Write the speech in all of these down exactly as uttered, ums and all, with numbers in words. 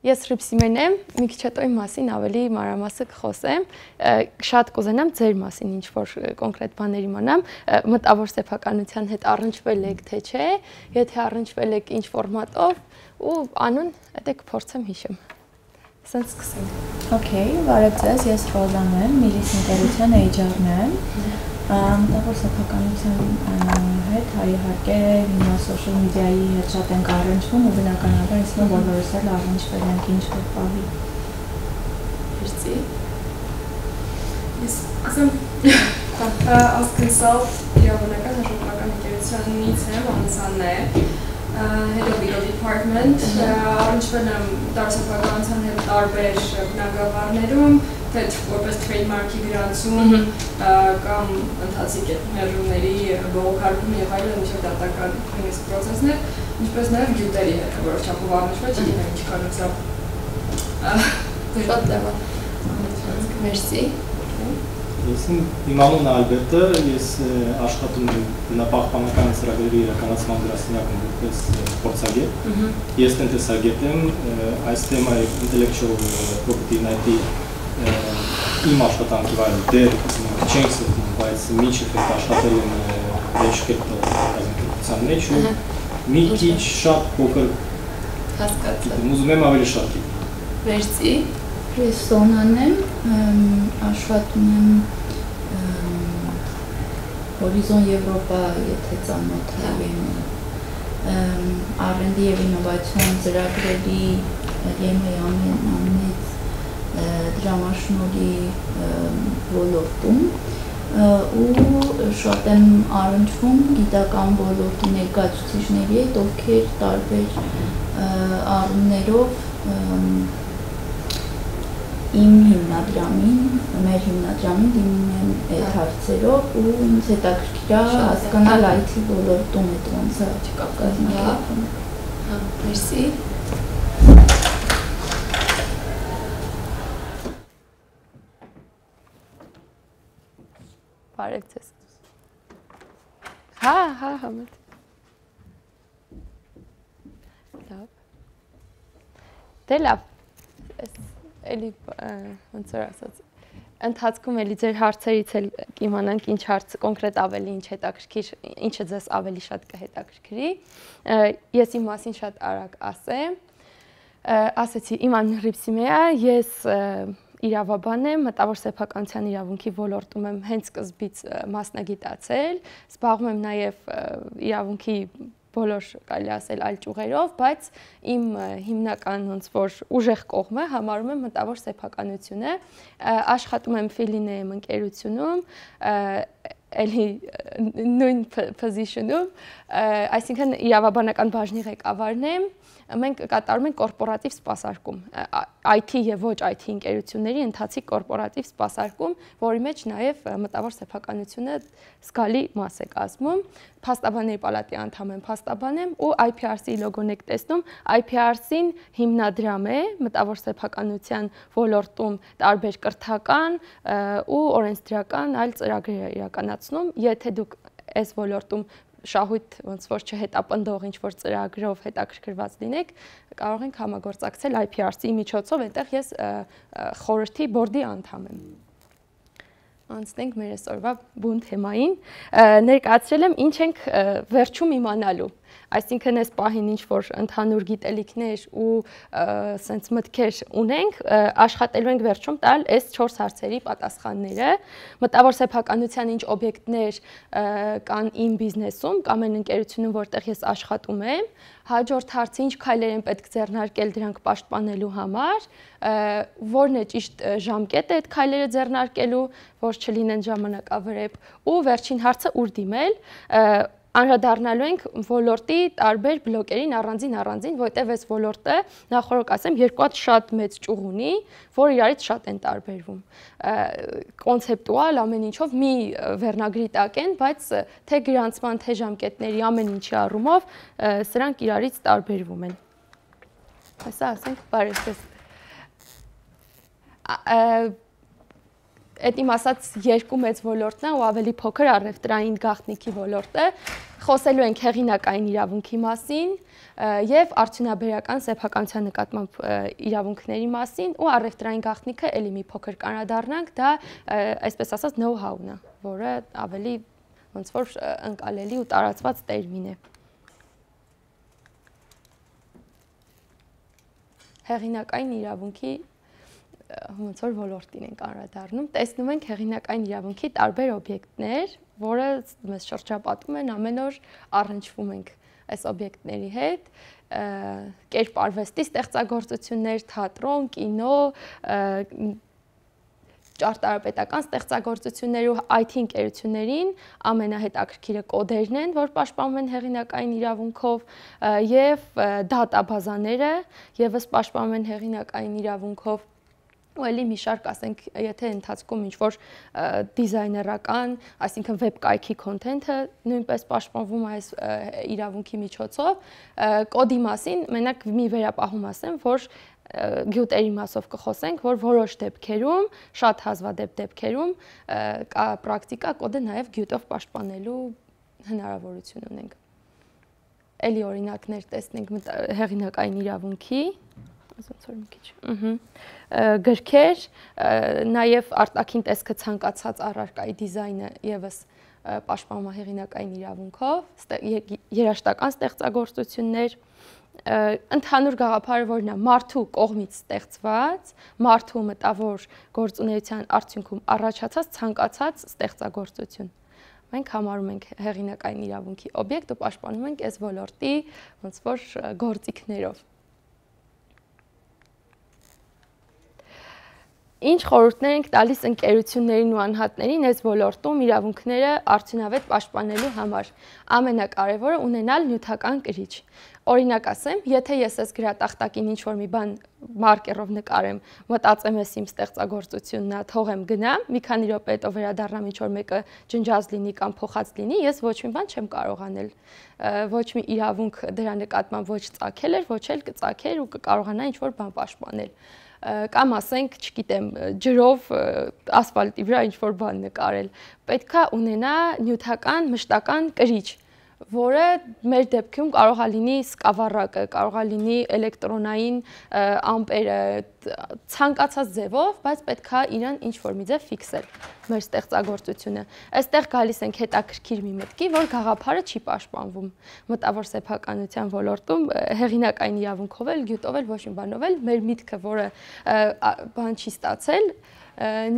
Ես Հռիփսիմեն եմ, մի քիչ հետո իմ մասին ավելի մանրամասն կխոսեմ, շատ կուզենամ ձեր մասին ինչ-որ կոնկրետ բաներ իմանամ, մտավոր սեփականության հետ առնչվել եք թե չէ, եթե առնչվել եք ինչ ֆորմատով ու անուն, դա կփորձեմ հիշեմ։ Սենց սկսենք։ Okay, բարև ձեզ, ես Ռոզան եմ, Միլիս ընկերության էյչ ար-ն եմ։ Մտավոր սեփականության հետ իհարկե հիմա սոցիալ մեդիայի հետ շատ ենք առնչվում ու բնականաբար ինձ մոտ բոլորս էլ առնչվել ենք ինչ-որ բանի։ Merci. Ես ասեմ, as consult իրավունական հաշվարկական ընկերությանից եմ, Անսանն է, Head of Legal Department, առնչվել եմ տարածապահականության հետ տարբեր բնագավառներում, թե որպես trademark-ի գրանցում կամ ընթացիկ ներդրումների բողոքարկում եւ այլն ինչ-որ դատական նույնիսկ պրոցեսներ, ինչպես նաեւ գյուտերի հետ որոշ չափով առնչվել, չգիտեմ ինչ կարծրապ։ Շատ լավ։ Merci։ Ես իմ անունն է Ալբերտը, ես աշխատում եմ բնապահպանական ծրագրերի իրականացման գրասենյակում որպես փորձագետ։ Ես տնտեսագետ եմ, այս թեմայի intellectual property նայտի իմ աշխատանքի վայրը դեռ չենք ստում, բայց մինչև այդ աշխատել եմ Venture կազմակերպության մեջ ու մի քիչ շատ փոքր հասկացա։ Ուզում եմ ավելի շատ գիտեմ։ Merci։ Ես Սոնան եմ, աշխատում եմ Հորիզոն Եվրոպա, եթե ծանոթ եք, առ էն դի և ինովացիոն ծրագրերի ԵՄ-ի ամենամեծ դրամաշնորհի ոլորտում ու շատ եմ առնչվում գիտական ոլորտի ներկայացուցիչների հետ, ովքեր տարբեր առումներով իմ հիմնադրամին, մեր հիմնադրամին դիմում են այդ հարցերով ու ինձ հետաքրքիր է հասկանալ այ թի ոլորտում այդ ոնց է կազմակերպվում։ Հա, merci։ Բարև ձեզ։ Հա, հա, համդ։ Լավ։ Դե լավ։ Էլի ոնց որ ասած ընթացքում էլի ձեր հարցերից էլ կիմանանք ինչ հարց կոնկրետ ավելի ինչ հետաքրքիր, ինչը ձեզ ավելի շատ կհետաքրքրի։ Ես իմ մասին շատ արագ ասեմ։ Ասեցի, իմ անունը Հռիփսիմե է, ես իրավաբան եմ, մտավոր սեփականության իրավունքի ոլորտում եմ հենց սկզբից մասնագիտացել, զբաղվում եմ նաև իրավունքի բոլոր կարելի ասել այլ ճյուղերով, բայց իմ հիմնական ոնց որ ուժեղ կողմը համարում եմ մտավոր սեփականությունը, աշխատում եմ Ֆիլինեյմ ընկերությունում, էլի նույն position-ում, այսինքն իրավաբանական բաժնի ղեկավարն եմ, մենք կատարում ենք կորպորատիվ սպասարկում, I T եւ ոչ I T ընկերությունների ընթացիկ կորպորատիվ սպասարկում, որի մեջ նաեւ մտավոր սեփականությունը զգալի մաս է կազմում, փաստաբանների պալատի անդամ եմ, փաստաբան եմ ու I P R C լոգոն եք տեսնում, I P R C-ն հիմնադրամ է մտավոր սեփականության ոլորտում տարբեր կրթական ու օրենսդրական այլ ծրագրեր իրականացնում, եթե դուք այս ոլորտում շահույթ ոնց որ չհետապնդող ինչ-որ ծրագրով հետաքրքրված լինեք, կարող ենք համագործակցել I P R C-ի միջոցով, այնտեղ ես խորհրդի բորդի անդամ եմ։ Անցնենք մեր այսօրվա բուն թեմային, ներկայացրել եմ ինչ ենք վերջում իմանալու, այսինքն այս պահին ինչ-որ ընդհանուր գիտելիքներ ու սենց մտքեր ունենք, աշխատելու ենք վերջում տալ այս չորս հարցերի պատասխանները, մտավոր սեփականության ինչ օբյեկտներ կան իմ բիզնեսում կամ այն ընկերությունում, որտեղ ես աշխատում եմ, հաջորդ հարցը ինչ քայլեր են պետք ձեռնարկել դրանք պաշտպանելու համար, որն է ճիշտ ժամկետը այդ քայլերը ձեռնարկելու, որ չլինեն ժամանակավրեպ, ու վերջին հարցը ուր դիմել, անդրադառնալու ենք ոլորտի տարբեր բլոկերին առանձին առանձին, որտեղ այս ոլորտը նախորդ ասեմ երկու հատ շատ մեծ ճյուղ ունի, որ իրարից շատ են տարբերվում։ Կոնցեպտուալ ամեն ինչով մի վերնագրի տակ են, բայց թե գրանցման, թե ժամկետների ամեն ինչի առումով սրանք իրարից տարբերվում են։ Հեսա ասենք բարև ձեզ։ Այդ իմ ասած երկու մեծ ոլորտն է ու ավելի փոքր առևտրային գաղտնիքի ոլորտը, Խոսելու ենք հեղինակային իրավունքի մասին եւ արդյունաբերական սեփականության նկատմամբ իրավունքների մասին ու առևտրային գաղտնիքը էլի մի փոքր կանրադառնանք, դա այսպես ասած know-how-ն է, որը ավելի ոնց որ ընկալելի ու տարածված տերմին է։ Հեղինակային իրավունքի ոնց որ ոլորտին ենք անդրադառնում, տեսնում ենք հեղինակային իրավունքի տարբեր օբյեկտներ, որը մեզ շրջապատում են, ամեն օր առնչվում ենք այս օբյեկտների հետ, կերպարվեստի ստեղծագործություններ, թատրոն, կինո, ճարտարապետական ստեղծագործություններ ու այ թի ընկերություններին ամենահետաքրքիրը կոդերն են, որ պաշտպանվում են հեղինակային իրավունքով, եւ դատաբազաները եւս պաշտպանվում են հեղինակային իրավունքով։ Ու էլի մի շարք, ասենք, եթե ընթացքում ինչ-որ դիզայներական, այսինքն վեբ կայքի քոնթենթը նույնպես պաշտպանվում է այս իրավունքի միջոցով, կոդի մասին մենակ մի վերապահում ասեմ, որ գյուտերի մասով կխոսենք, որ որոշ դեպքերում, շատ հազվադեպ դեպքերում կա պրակտիկա կոդը նաև գյուտով պաշտպանելու հնարավորություն ունենք։ Էլի օրինակներ տեսնենք հեղինակային իրավունքի, ոնց որ մի քիչ, գրքեր, նաև արտաքին տեսքը ցանկացած առարկայի դիզայնը եւս պաշտպանվում է հեղինակային իրավունքով, երաժշտական ստեղծագործություններ, ընդհանուր գաղափարը որն է մարդու կողմից ստեղծված, մարդու մտավոր գործունեության արդյունքում առաջացած ցանկացած ստեղծագործություն։ Մենք համարում ենք հեղինակային իրավունքի օբյեկտ ու պաշտպանում ենք այս ոլորտի ոնց որ գործիքներով։ Ինչ խորհուրդներ ենք տալիս ընկերություններին ու անհատներին այս ոլորտում իրավունքները արդյունավետ պաշտպանելու համար։ Ամենակարևորը ունենալ նյութական կրիչ։ Օրինակ ասեմ, եթե ես այս գրատախտակին ինչ-որ մի բան մարկերով նկարեմ, մտածեմ ես իմ ստեղծագործությունն է, թողեմ գնամ, մի քանի րոպե հետո վերադառնամ ինչ-որ մեկը ջնջած լինի կամ փոխած լինի, ես ոչ մի բան չեմ կարող անել։ Ոչ մի իրավունք դրա նկատմամբ ոչ ծագել էր, ոչ էլ կծագեր ու կկարողանա ինչ-որ բան պաշտպանել։ Կամ ասենք, չգիտեմ, ջրով ասֆալտի վրա ինչ-որ բան նկարել, պետք է ունենա նյութական մշտական կրիչ, որը մեր դեպքում կարող է լինի սկավառակը, կարող է լինի էլեկտրոնային ամպերը, ցանկացած ձևով, բայց պետք է իրան ինչ-որ մի ձև ֆիքսել մեր ստեղծագործությունը։ Այստեղ գալիս ենք հետաքրքիր մի մտքի, որ գաղափարը չի պաշտպանվում։ Մտավոր սեփականության ոլորտում հեղինակային իրավունքով էլ, գյուտով էլ, ոչ մի բանով էլ մեր միտքը, որը բան չի ստացել,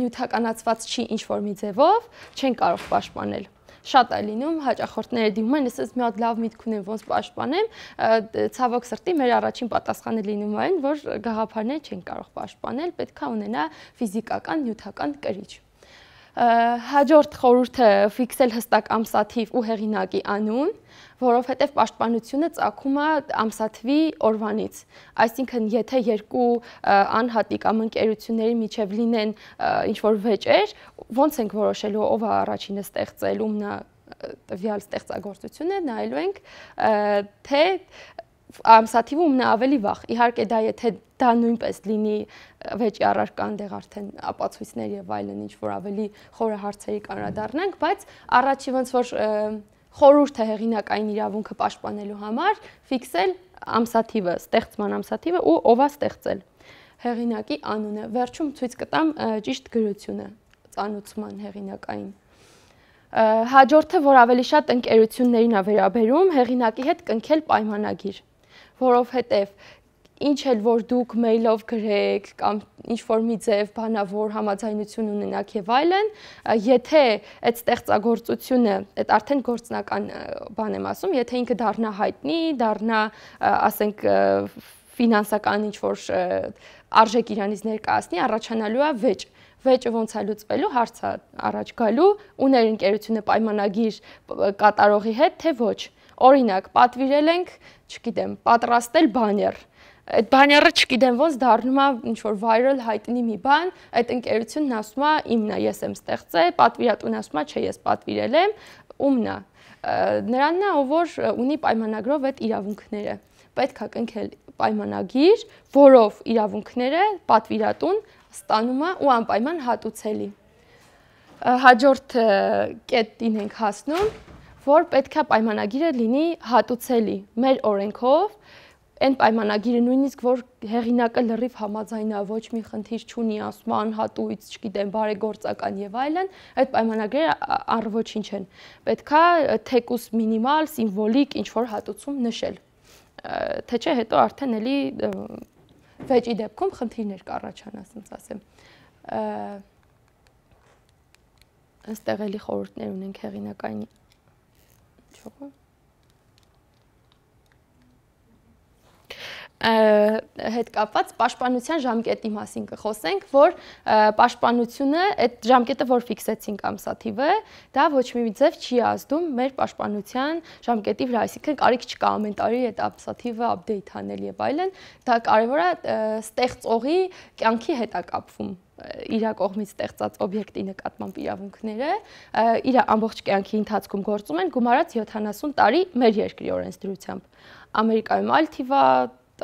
նյութականացված չի ինչ-որ մի ձևով, չեն կարող պաշտպանել։ Շատ է լինում, հաճախորդները դիմում են, ես մի հատ լավ միտք ունեմ, ոնց պաշտպանեմ, ցավոք սրտի մեր առաջին պատասխանը լինում այն, որ գաղափարները չեն կարող պաշտպանել, պետք է ունենա ֆիզիկական, նյութական կրիչ։ Հաջորդ խորհուրդը ֆիքսել հստակ ամսաթիվ ու հեղինակի անուն, որովհետև պաշտպանությունը ծագում է ամսաթվի օրվանից։ Այսինքն, եթե երկու անհատի կամ ընկերությունների միջև լինեն ինչ-որ վեճեր, ոնց ենք որոշելու ով է առաջինը ստեղծել, ումն է տվյալ ստեղծագործությունը, նայելու ենք, թե ամսաթիվը ումն է ավելի վաղ։ Իհարկե դա եթե դա նույնպես լինի վեճի առարկա, այնտեղ արդեն ապացույցներ եւ այլն ինչ-որ ավելի խորը հարցերի կանրադառնանք, բայց առաջի ոնց որ խորհուրդը հեղինակային իրավունքը պաշտպանելու համար ֆիքսել ամսաթիվը, ստեղծման ամսաթիվը ու ով է ստեղծել։ Հեղինակի անունը, վերջում ցույց կտամ ճիշտ գրությունը ծանուցման հեղինակային։ Հաջորդը, որ ավելի շատ ընկերություններին է վերաբերում, հեղինակի հետ կնքել պայմանագիր, որովհետև ինչ էլ որ դուք մեյլով գրեք կամ ինչ-որ մի ձև բանավոր համաձայնություն ունենաք եւ այլն, եթե այդ ստեղծագործությունը, այդ արդեն գործնական բան եմ ասում, եթե ինքը դառնա հայտնի, դառնա, ասենք, ֆինանսական ինչ-որ արժեք իրանից ներկայացնի, առաջանալու է վեճ։ Վեճը ոնց է լուծվելու, հարց է առաջ գալու, ուներ ընկերությունը պայմանագիր կատարողի հետ, թե ոչ։ Օրինակ, պատվիրել ենք, չգիտեմ, պատրաստել բաներ։ Այդ բաները չգիտեմ ոնց դառնում է ինչ-որ viral հայտնի մի բան, այդ ընկերությունն ասում է իմն է, ես եմ ստեղծել, պատվիրատուն ասում է, չէ, ես պատվիրել եմ, ումն է։ Նրանն է, ով որ ունի պայմանագրով այդ իրավունքները։ Պետք է կնքել պայմանագիր, որով իրավունքները պատվիրատուն ստանում է ու անպայման հատուցելի։ Հաջորդ կետին ենք հասնում, որ պետք է պայմանագիրը լինի հատուցելի մեր օրենքով, այն պայմանագիրը նույնիսկ որ հեղինակը լրիվ համաձայնա, ոչ մի խնդիր չունի, ասում անհատույց, չգիտեմ, բարեգործական եւ այլն, այդ պայմանագրերը առ ոչինչ են։ Պետք է թեկուս մինիմալ, սիմվոլիկ ինչ-որ հատուցում նշել։ Թե չէ հետո արդեն էլի վեճի դեպքում խնդիրներ կառաջանա, ասենց ասեմ։ Այստեղ էլի խորհուրդներ ունենք հեղինակային չողը։ Հետ կապված պաշտպանության ժամկետի մասին կխոսենք, որ պաշտպանությունը, այդ ժամկետը, որ ֆիքսեցինք ամսաթիվը, դա ոչ մի ձև չի ազդում մեր պաշտպանության ժամկետի վրա, այսինքն կարիք չկա ամեն տարի այդ ամսաթիվը update անել եւ այլն, դա կարևոր է ստեղծողի կյանքի հետ է կապվում իր կողմից ստեղծած օբյեկտի նկատմամբ իրավունքները, իր ամբողջ կյանքի ընթացքում գործում են գումարած յոթանասուն տարի մեր երկրի օրենսդրությամբ։ Ամերիկայում այլ թիվ է,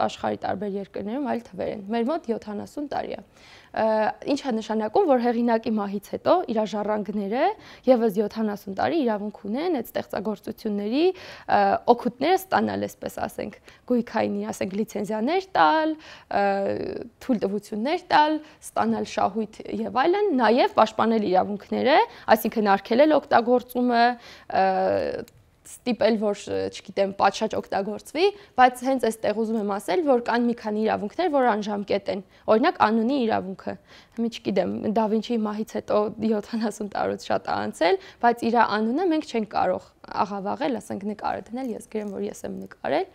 աշխարհի տարբեր երկրներում այլ թվեր են։ Մեր մոտ յոթանասուն տարի է։ Ինչ է նշանակում, որ հեղինակի մահից հետո իր ժառանգները եւս յոթանասուն տարի իրավունք ունեն այդ ստեղծագործությունների օգուտները ստանալ, այսպես ասենք, գույքային, ասենք, լիցենզիաներ տալ, թույլտվություններ տալ, ստանալ շահույթ եւ այլն, նաեւ պաշտպանել իրավունքները, այսինքն արգելել օգտագործումը, ստիպել, որ, չգիտեմ, պատշաճ օգտագործվի, բայց հենց այստեղ ուզում եմ ասել, որ կան մի քանի իրավունքներ, որ անժամկետ են։ Օրինակ անունի իրավունքը։ Մի չգիտեմ, Դա Վինչիի մահից հետո յոթանասուն տարուց շատ է անցել, բայց իր անունը մենք չենք կարող աղավաղել, ասենք նկարը դնել, ես գրեմ, որ ես եմ նկարել,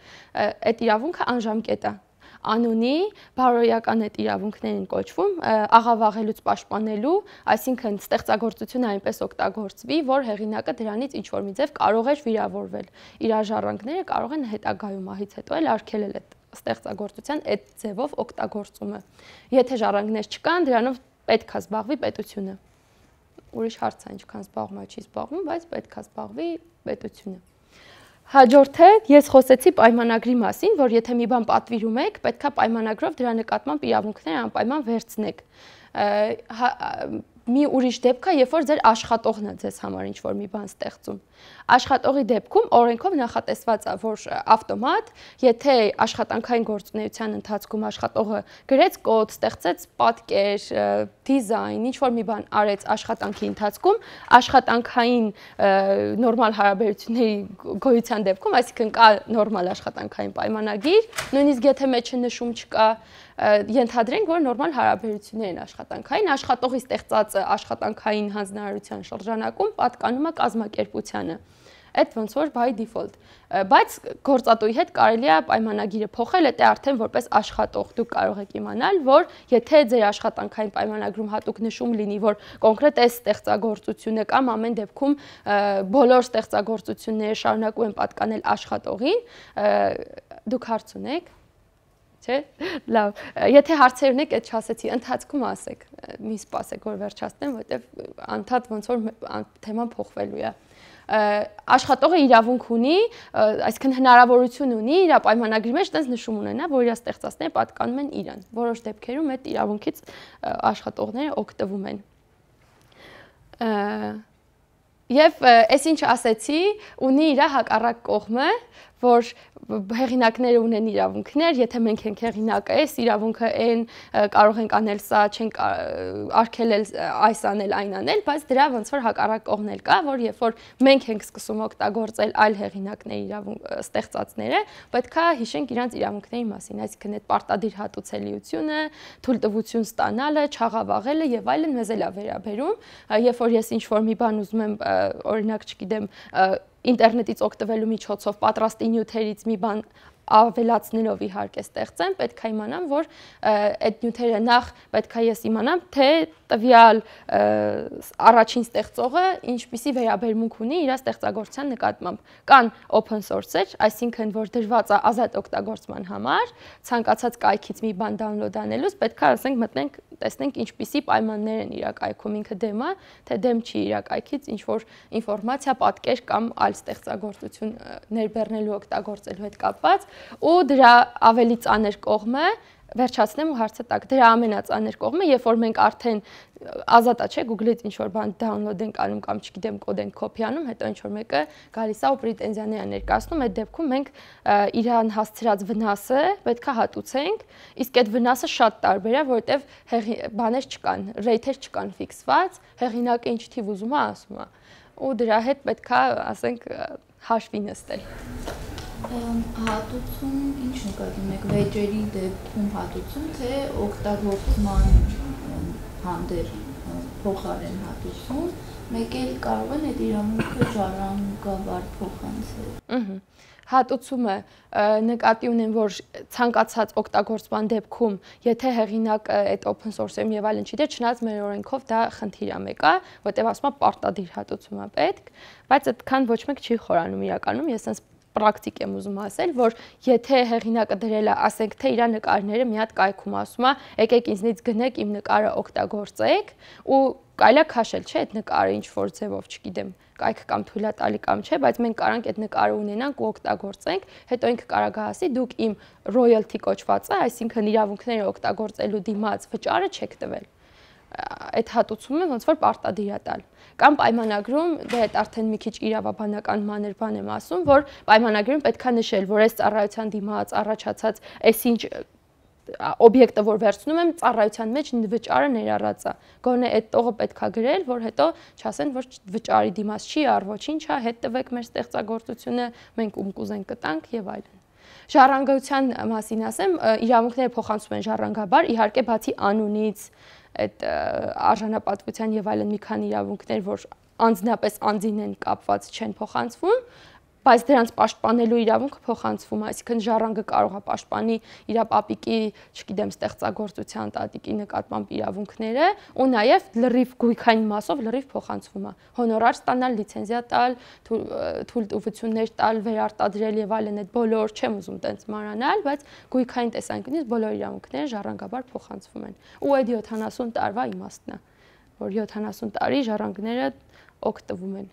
այդ իրավունքը անժամկետ է։ Անունի բարոյական այդ իրավունքներին կոչվում աղավաղելուց պաշտպանելու, այսինքն ստեղծագործությունը այնպես օգտագործվի, որ հեղինակը դրանից ինչ-որ մի ձև կարող էր վիրավորվել։ Իր ժառանգները կարող են հետագայում մահից հետո էլ արգելել այդ ստեղծագործության այդ ձևով օգտագործումը։ Եթե ժառանգներ չկան, դրանով պետք է զբաղվի պետությունը։ Ուրիշ հարց է, ինչքան զբաղվում է, չի զբաղվում, բայց պետք է զբաղվի պետությունը։ Հաջորդը ես խոսեցի պայմանագրի մասին, որ եթե մի բան պատվիրում եք, պետք է պայմանագրով դրա նկատմամբ իրավունքները անպայման վերցնեք։ Մի ուրիշ դեպք է, երբ որ ձեր աշխատողն է ձեզ համար ինչ-որ մի բան ստեղծում։ Աշխատողի դեպքում օրենքով նախատեսված է, որ ավտոմատ, եթե աշխատանքային գործունեության ընթացքում աշխատողը գրեց կոդ, ստեղծեց պատկեր, դիզայն, ինչ-որ մի բան արեց աշխատանքի ընթացքում, աշխատանքային նորմալ հարաբերությունների գոյության դեպքում, այսինքն կա նորմալ աշխատանքային պայմանագիր, նույնիսկ եթե մեջը նշում չկա, ենթադրենք, որ նորմալ հարաբերություններ են աշխատանքային, աշխատողի ստեղծած աշխատանքային հանձնարարության շրջանակում պատկանում է կազմակերպությանը։ Այդ ոնց որ by default, բայց գործատուի հետ կարելի է պայմանագիրը փոխել, դա արդեն որպես աշխատող դուք կարող եք իմանալ, որ եթե ձեր աշխատանքային պայմանագրում հատուկ նշում լինի, որ կոնկրետ այս ստեղծագործությունը կամ ամեն դեպքում բոլոր ստեղծագործությունները շարունակում են պատկանել աշխատողին, դուք հարց ունեք։ Չէ՞։ Լավ, եթե հարցեր ունեք, այդ չասեցի, ընթացքում ասեք, մի սպասեք, որ վերջացնեմ, որովհետև անդադ ոնց որ թեման փոխվելու է։ Աշխատողը իրավունք ունի, այսինքն հնարավորություն ունի իր պայմանագրի մեջ տենց նշում ունենա, որ իր ստեղծածները պատկանում են իրան։ Որոշ դեպքերում այդ իրավունքից աշխատողները օգտվում են։ Եվ այս ինչ ասեցի, ունի իր հակառակ կողմը, որ հեղինակները ունեն իրավունքներ, եթե մենք ենք հեղինակը, այս իրավունքը այն կարող ենք անել սա, չենք արգելել այս անել, այն անել, բայց դրա ոնց որ հակառակ կողմն էլ կա, որ երբ որ մենք ենք սկսում օգտագործել այլ հեղինակների իրավունք ստեղծածները, պետք է հիշենք իրանց իրավունքների մասին, այսինքն այդ պարտադիր հատուցելիությունը, թույլտվություն ստանալը, չաղավաղելը եւ այլն մեզ էլ է վերաբերում, երբ որ ես ինչ-որ մի բան ուզում եմ, օրինակ, չգիտեմ, ինտերնետից օգտվելու միջոցով պատրաստի նյութերից մի բան ավելացնելով իհարկե ստեղծեմ, պետք է իմանամ, որ այդ նյութերը նախ պետք է ես իմանամ, թե տվյալ առաջին ստեղծողը ինչպիսի վերաբերմունք ունի իր ստեղծագործության նկատմամբ։ Կան open source-եր, այսինքն որ դրված է ազատ օգտագործման համար, ցանկացած կայքից մի բան download անելուց պետք է ասենք մտնենք, տեսնենք ինչպիսի պայմաններ են իր կայքում, ինքը դեմ է, թե դեմ չի իր կայքից ինչ որ ինֆորմացիա, պատկեր կամ այլ ստեղծագործություն ներբեռնելու օգտագործելու հետ կապված, ու դրա ավելի ծանր կողմը վերջացնեմ ու հարցը տակ։ Դրա ամենածանր կողմը, երբ որ մենք արդեն ազատա չէ Google-ից ինչ որ բան download ենք անում կամ չգիտեմ կոդ ենք copy անում, հետո ինչ որ մեկը գալիս է ու պրետենզիաներ է ներկայացնում, այդ դեպքում մենք իրան հասցրած վնասը պետքա հատուցենք, իսկ այդ վնասը շատ տարբեր է, որովհետև բաներ չկան, rate-եր չկան ֆիքսված, հեղինակը ինչ թիվ ուզում է ասում է։ Ու դրա հետ պետքա, ասենք, հաշվի նստել։ Հատուցում ինչ նկատի եք վեճերի դեպքում հատուցում, թե օգտագործման հանդեր փոխարեն հատուցում, մեկ էլ կարող են այդ իրավունքը ժառանգաբար փոխանցել։ Հատուցումը նկատի ունեն, որ ցանկացած օգտագործման դեպքում, եթե հեղինակը այդ open source-ում եւ այլն չի դեր, չնայած մեր օրենքով դա խնդիր է մեկը, որտեղ ասում է պարտադիր հատուցում է պետք, բայց այդքան ոչ մեկ չի խորանում իրականում, ես sense պրակտիկ եմ ուզում ասել, որ եթե հեղինակը դրել է, ասենք թե իր նկարները մի հատ կայքում ասում է, եկեք ինձնից գնեք իմ նկարը օգտագործեք ու կարելի է քաշել, չէ՞, այդ նկարը ինչ որ ձևով, չգիտեմ, կայք կամ թույլատալի կամ չէ, բայց մենք կարանք այդ նկարը ունենանք ու օգտագործենք, հետո ինքը կարող է ասի, դուք իմ royalty կոչվածը, այսինքն իրավունքները օգտագործելու դիմաց վճարը չեք տվել։ Այդ հատուցումը ոնց որ պարտադիր է տալ։ Կամ պայմանագրում, դե այդ արդեն մի քիչ իրավաբանական մանր բան եմ ասում, որ պայմանագրում պետքա նշել, որ այս ծառայության դիմաց առաջացած այսինչ օբյեկտը, որ վերցնում եմ, ծառայության մեջ վճարը ներառած է։ Գոնե այդ տողը պետքա գրել, որ հետո չասեն, որ վճարի դիմաց չի առ ոչինչ, հա, հետ տվեք մեր ստեղծագործությունը, մենք ում կուզենք կտանք եւ այլն։ Ժառանգության մասին ասեմ, իրավունքները փոխանցում են ժառանգաբար, իհարկե բացի անունից, այդ արժանապատվության եւ այլն մի քանի իրավունքներ, որ անձնապես անձին են կապված, չեն փոխանցվում, բայց դրանց պաշտպանելու իրավունքը փոխանցվում է, այսինքն ժառանգը կարող է պաշտպանի իր պապիկի, չգիտեմ, ստեղծագործության տատիկի նկատմամբ իրավունքները ու նաև լրիվ գույքային մասով լրիվ փոխանցվում է։ Հոնորար ստանալ, լիցենզիա տալ, թույլտվություններ տալ, վերարտադրել եւ այլն, այդ բոլոր չեմ ուզում տենց մանրանալ, բայց գույքային տեսանկյունից բոլոր իրավունքները ժառանգաբար փոխանցվում են։ Ու այդ յոթանասուն տարվա իմաստն է, որ յոթանասուն տարի ժառանգները օգտվում են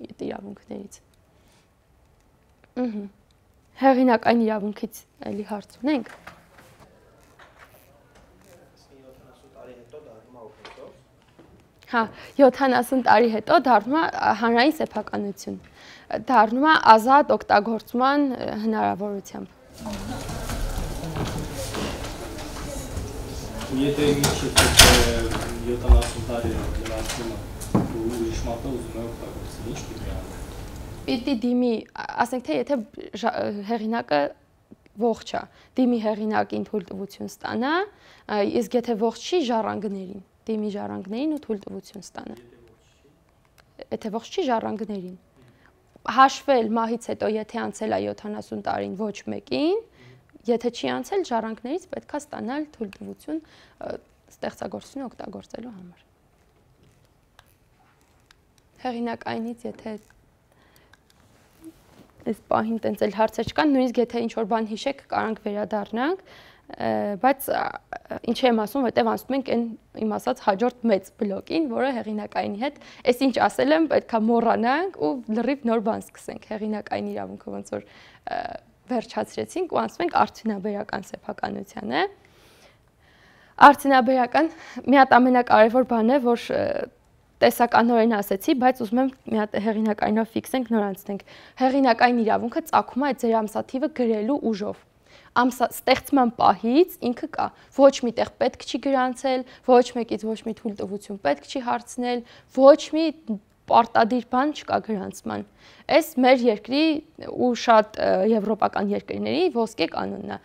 այդ իրավունքներից։ Ահա։ Հեղինակային իրավունքից էլի հարց ունենք։ Հա, յոթանասուն տարի հետո դառնում է հանրային սեփականություն։ Դառնում է ազատ օգտագործման հնարավորությամբ։ Եթե միջև յոթանասուն տարի լրացնում է ու ուրիշ մատը ուզում է օգտագործել, ինչ պիտի անել։ Պիտի դիմի, ասենք թե եթե հեղինակը ողջ է, դիմի հեղինակին թույլտվություն ստանա, իսկ եթե ողջ չի, ժառանգներին, դիմի ժառանգներին ու թույլտվություն ստանա։ Եթե ողջ չի, ժառանգներին։ Հաշվել մահից հետո, եթե անցել է յոթանասուն տարին ոչ մեկին, եթե չի անցել, ժառանգներից պետք է ստանալ թույլտվություն ստեղծագործությունը օգտագործելու համար։ Հեղինակայինից եթե այս պահին տենց էլ հարցեր չկան, նույնիսկ եթե ինչ-որ բան հիշեք, կարանք վերադառնանք, բայց ինչ եմ ասում, որտեղ անցնում ենք այն իմ ասած հաջորդ մեծ բլոկին, որը հեղինակայինի հետ, այս ինչ ասել եմ, պետքա մոռանանք ու լրիվ նոր բան սկսենք, հեղինակային իրավունքը ոնց որ վերջացրեցինք ու անցնում ենք արդյունաբերական սեփականությանը։ Արդյունաբերական մի հատ ամենակարևոր բան է, որ տեսականորեն ասեցի, բայց ուզում եմ մի հատ հեղինակայինով ֆիքսենք, նոր անցնենք։ Հեղինակային իրավունքը ծագում է այդ ձեր ամսաթիվը գրելու ուժով։ Ամսա ստեղծման պահից ինքը կա։ Ոչ միտեղ պետք չի գրանցել, ոչ մեկից ոչ մի թույլտվություն պետք չի հարցնել, ոչ մի պարտադիր բան չկա գրանցման։ Այս մեր երկրի ու շատ եվրոպական երկրների ոսկե կանոնն է։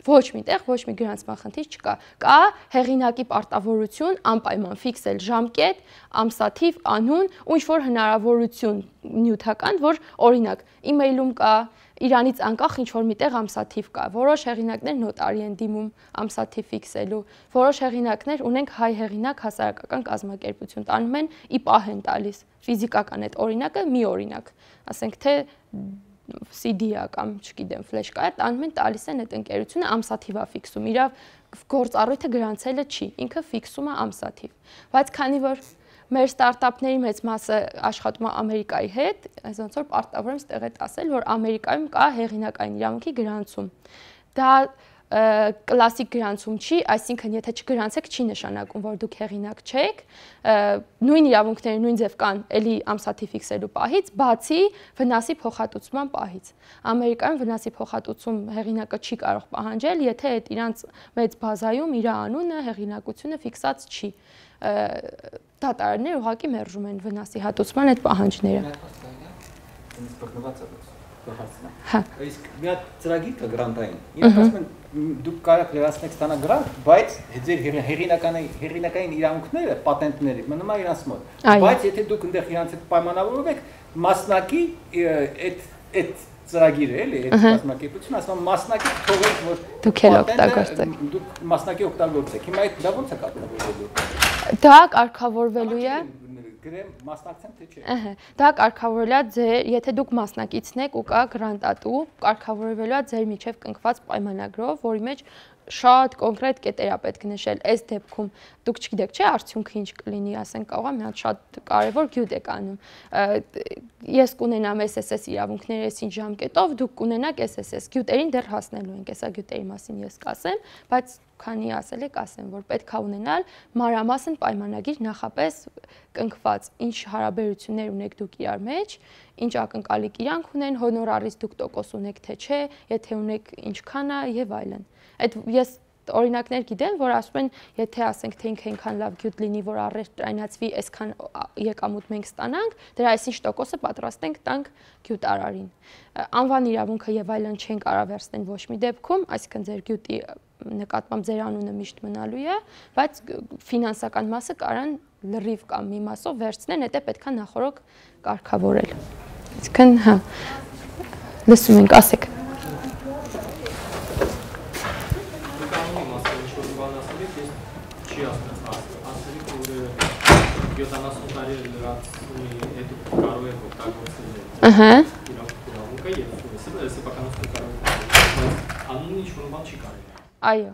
Ոչ միտեղ ոչ մի գրանցման խնդիր չկա։ Կա հեղինակի պարտավորություն անպայման ֆիքսել ժամկետ, ամսաթիվ, անուն ու ինչ-որ հնարավորություն նյութական, որ օրինակ email-ում կա, իրանից անկախ ինչ-որ միտեղ ամսաթիվ կա։ Որոշ հեղինակներ նոտարի են դիմում ամսաթիվ ֆիքսելու, որոշ հեղինակներ ունենք հայ հեղինակ հասարակական կազմակերպություն, տանում են ի պահ են տալիս, ֆիզիկական այդ օրինակը մի օրինակ, ասենք թե սի դի-ա կամ չգիտեմ ֆլեշկա է, տանում են տալիս են այդ ընկերությունը ամսաթիվ է ֆիքսում, իր գործառույթը գրանցելը չի, ինքը ֆիքսում է ամսաթիվ, բայց քանի որ մեր ստարտափների մեծ մասը աշխատում է Ամերիկայի հետ, այս ոնց որ պարտավոր եմ ստեղ այդ ասել, որ Ամերիկայում կա հեղինակային իրավունքի գրանցում։ Դա կլասիկ գրանցում չի, այսինքն եթե չգրանցեք, չի նշանակում, որ դուք հեղինակ չեք, նույն իրավունքները նույն ձև կան էլի ամսաթիվ ֆիքսելու պահից, բացի վնասի փոխհատուցման պահից։ Ամերիկայում վնասի փոխհատուցում հեղինակը չի կարող պահանջել, եթե այդ իրանց մեծ բազայում իր անունը, հեղինակությունը ֆիքսած չի։ Դատարանները ուղղակի մերժում են վնասի հատուցման այդ պահանջները։ Հա։ Իսկ մի հատ ծրագիր կա գրանտային։ Իրանք ասում են դուք կարող լրացնեք ստանալ գրանտ, բայց ձեր հեղինակային հեղինակային իրավունքները, պատենտները մնում են իրանց մոտ։ Բայց եթե դուք այնտեղ իրանց հետ պայմանավորվում եք, մասնակի այդ այդ ծրագիրը էլի, այդ մասնակցությունը ասում մասնակի թողեք որ դուք էլ օգտագործեք։ Դուք մասնակի օգտագործեք։ Հիմա այդ դա ո՞նց է կարգավորվելու։ Դա կարգավորվելու է գրեմ մասնակցեմ թե չէ։ Ահա, դա կարգավորվելա ձեր, եթե դուք մասնակիցն եք ու կա գրանտատու, կարգավորվելա ձեր միջև կնքված պայմանագրով, որի մեջ շատ կոնկրետ կետեր է պետք նշել։ Այս դեպքում դուք չգիտեք, չէ՞, արդյունքը ինչ կլինի, ասենք, կարող է մի հատ շատ կարևոր գյուտ եք անում։ Ես կունենամ S S S իրավունքները այսին ժամկետով, դուք կունենաք S S S։ Գյուտերին դեռ հասնելու ենք, հեսա գյուտերի մասին ես կասեմ, բայց քանի ասել եք, ասեմ, որ պետք է ունենալ մանրամասն պայմանագիր նախապես կնքված, ինչ հարաբերություններ ունեք դուք իրար մեջ, ինչ ակնկալիք իրանք ունեն, հոնորարից դուք տոկոս ունեք թե չէ, եթե ունեք ինչքան է եւ այլն։ Այդ ես օրինակներ գիտեմ, որ ասում են, եթե ասենք թե ինքը այնքան լավ գյուտ լինի, որ առևտրայնացվի, այսքան եկամուտ մենք ստանանք, դրա այսինչ տոկոսը պատրաստ ենք տանք գյուտարարին։ Անվան իրավունքը եւ այլն չեն կարող վերցնել ոչ մի դեպքում, այսինքն ձեր գյուտի նկատմամբ ձեր անունը միշտ մնալու է, բայց ֆինանսական մասը կարան լրիվ կամ մի մասով վերցնեն, դա պետք է նախորոք կարգավորել։ Այսինքն, հա, լսում ենք, ասեք։ յոթանասուն տարի լրացումի հետ կարող եք օգտագործել Ահա։ իրավունքը եւ սեփականությունը կարող եք անունը ինչ-որ բան չի կարելի։ Այո,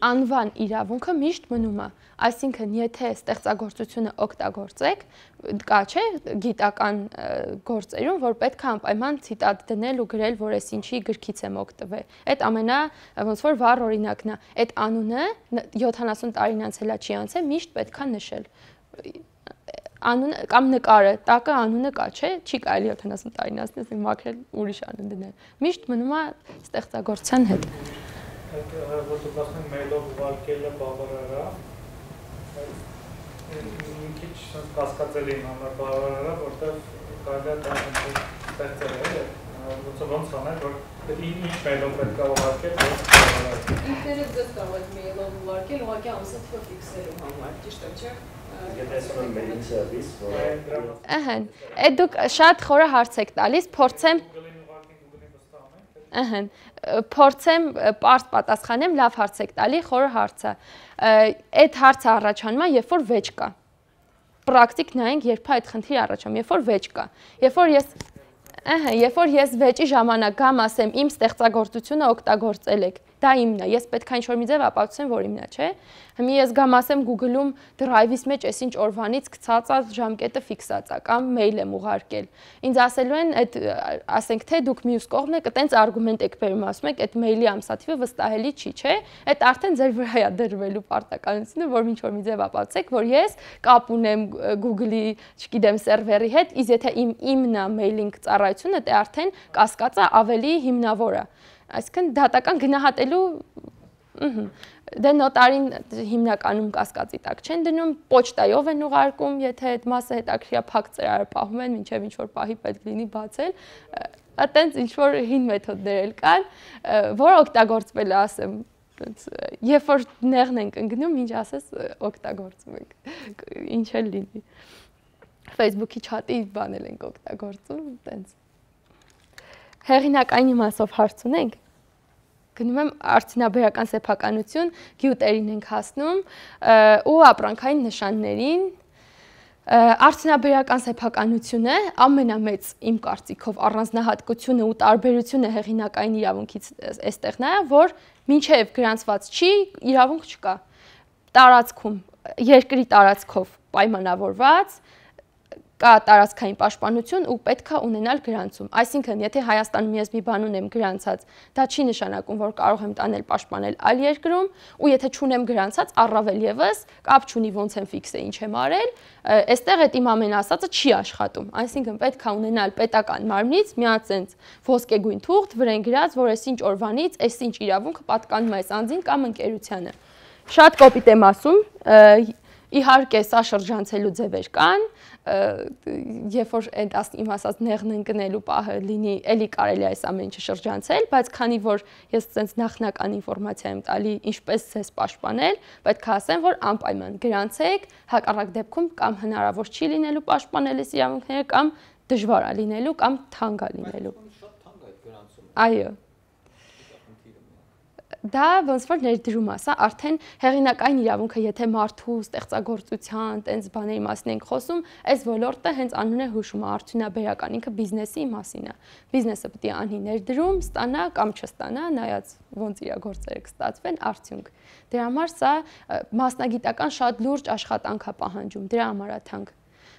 անվան իրավունքը միշտ մնում է, այսինքն եթե ստեղծագործությունը օգտագործեք, կա չէ գիտական գործերում, որ պետք է անպայման ցիտատ դնել ու գրել, որ այս ինչի գրքից եմ օգտվել։ Այդ ամենա ոնց որ վառ օրինակն է, այդ անունը յոթանասուն տարին անցելա չի անցել, միշտ պետք է նշել։ Անունը կամ նկարը, տակը անունը կա, չէ, չի կարելի յոթանասուն տարին անցնել, մաքրել ուրիշ անուն դնել։ Միշտ մնում է ստեղծագործության հետ։ Այդ որ դուք ասում եք մեյլով ուղարկելը բավարար է, մի քիչ կասկածելի համար բավարար է, որտեղ կարելի է դա ստեղծել է, ոնց անել, որ ինչ մեյլով պետք է ուղարկել, որ բավարար է։ Ինքներդ ձեզ կարող եք մեյլով ուղարկել, ուղղակի ամսաթվը ֆիքսելու համար, ճիշտ է, չէ՞։ Ահա, այդ դուք շատ խորը հարց եք տալիս, փորձեմ Ահա, փորձեմ պարզ պատասխանեմ, լավ հարց եք տալի, խորը հարց է։ Այդ հարցը առաջանում է, երբ որ վեճ կա։ Պրակտիկ նայենք, երբ այդ խնդիրը առաջանում, երբ որ վեճ կա։ Երբ որ ես Ահա, երբ որ ես վեճի ժամանակ գամ ասեմ, իմ ստեղծագործությունը օգտագործել եք, դա իմն է, ես պետք է ինչ-որ մի ձև ապացուցեմ, որ իմն է, չէ։ Հիմա ես գամ ասեմ Google-ում Drive-ից մեջ այսինչ օրվանից գցած է ժամկետը ֆիքսած է կամ մեյլ եմ ուղարկել։ Ինձ ասելու են, այդ ասենք թե դուք մյուս կողմն եք, այտենց արգումենտ եք բերում, ասում եք, այդ մեյլի ամսաթիվը վստահելի չի, չէ։ Այդ արդեն ձեր վրա է դրվելու պարտականությունը, որ ինչ-որ մի ձև ապացուցեք, որ ես կապ ունեմ Google-ի, չգիտեմ, սերվերի հետ, իսկ եթե իմ իմն է մեյլինգ ծառայությունը, դա արդեն կասկածը ավելի հիմնավոր է։ Այսինքն դատական գնահատելու դե նոտարին հիմնականում կասկածի տակ չեն դնում, պոչտայով են ուղարկում, եթե այդ մասը հետաքրքիր է, փակ ծրարը պահում են, մինչև ինչ-որ պահի պետք լինի բացել, այտենց ինչ-որ հին մեթոդներ էլ կան, որ օգտագործվել է, ասեմ, երբ որ նեղն ենք ընկնում, ինչ ասես օգտագործում ենք, ինչ էլ լինի, Facebook-ի չաթի բանել ենք օգտագործում, այտենց։ Հեղինակային իմաստով հարց ունենք, գնում եմ արդյունաբերական սեփականություն, գյուտերին ենք հասնում ու ապրանքային նշաններին, արդյունաբերական սեփականությունը ամենամեծ իմ կարծիքով առանձնահատկությունը ու տարբերությունը հեղինակային իրավունքից էստեղն է, որ մինչև գրանցված չի, իրավունք չկա, տարածքում, երկրի տարածքով պայմանավորված, կա տարածքային պաշտպանություն ու պետք է ունենալ գրանցում։ Այսինքն, եթե Հայաստանում ես մի բան ունեմ գրանցած, դա չի նշանակում, որ կարող եմ տանել պաշտպանել այլ երկրում, ու եթե չունեմ գրանցած, առավել եւս կապ չունի ոնց եմ ֆիքսը, ինչ եմ արել, այստեղ այդ իմ ամեն ասածը չի աշխատում։ Այսինքն, պետք է ունենալ պետական մարմնից մի հատ ոսկեգույն թուղթ, վրան գրած, որ այսինչ օրվանից, այսինչ իրավունքը պատկանում է այս անձին կամ ընկերությանը։ Շատ կոպիտ եմ ասում, իհարկե սա շրջանցելու ձևեր կան, երբ որ այդ իմ ասած նեղն ընկնելու պահը լինի, էլի կարելի է այս ամեն ինչը շրջանցել, բայց քանի որ ես ցենց նախնական ինֆորմացիա եմ տալի, ինչպես ցես պաշտպանել, պետք է ասեմ, որ անպայման գրանցեք, հակառակ դեպքում կամ հնարավոր չի լինելու պաշտպանել այս իրավունքները, կամ դժվար է լինելու, կամ թանկ է լինելու։ Շատ թանկ է այդ գրանցումը։ Այո։ Դա ոնց որ ներդրում է, սա արդեն հեղինակային իրավունքը, եթե մարդու ստեղծագործության, տենց բաների մասին ենք խոսում, այս ոլորտը հենց անուն է հուշում, արդյունաբերական, ինքը բիզնեսի մասին է։ Բիզնեսը պետք է անի ներդրում, ստանա կամ չստանա, նայած ոնց իր գործերը կստացվեն, արդյունք։ Դրա համար սա մասնագիտական շատ լուրջ աշխատանք է պահանջում, դրա համար է թանկ։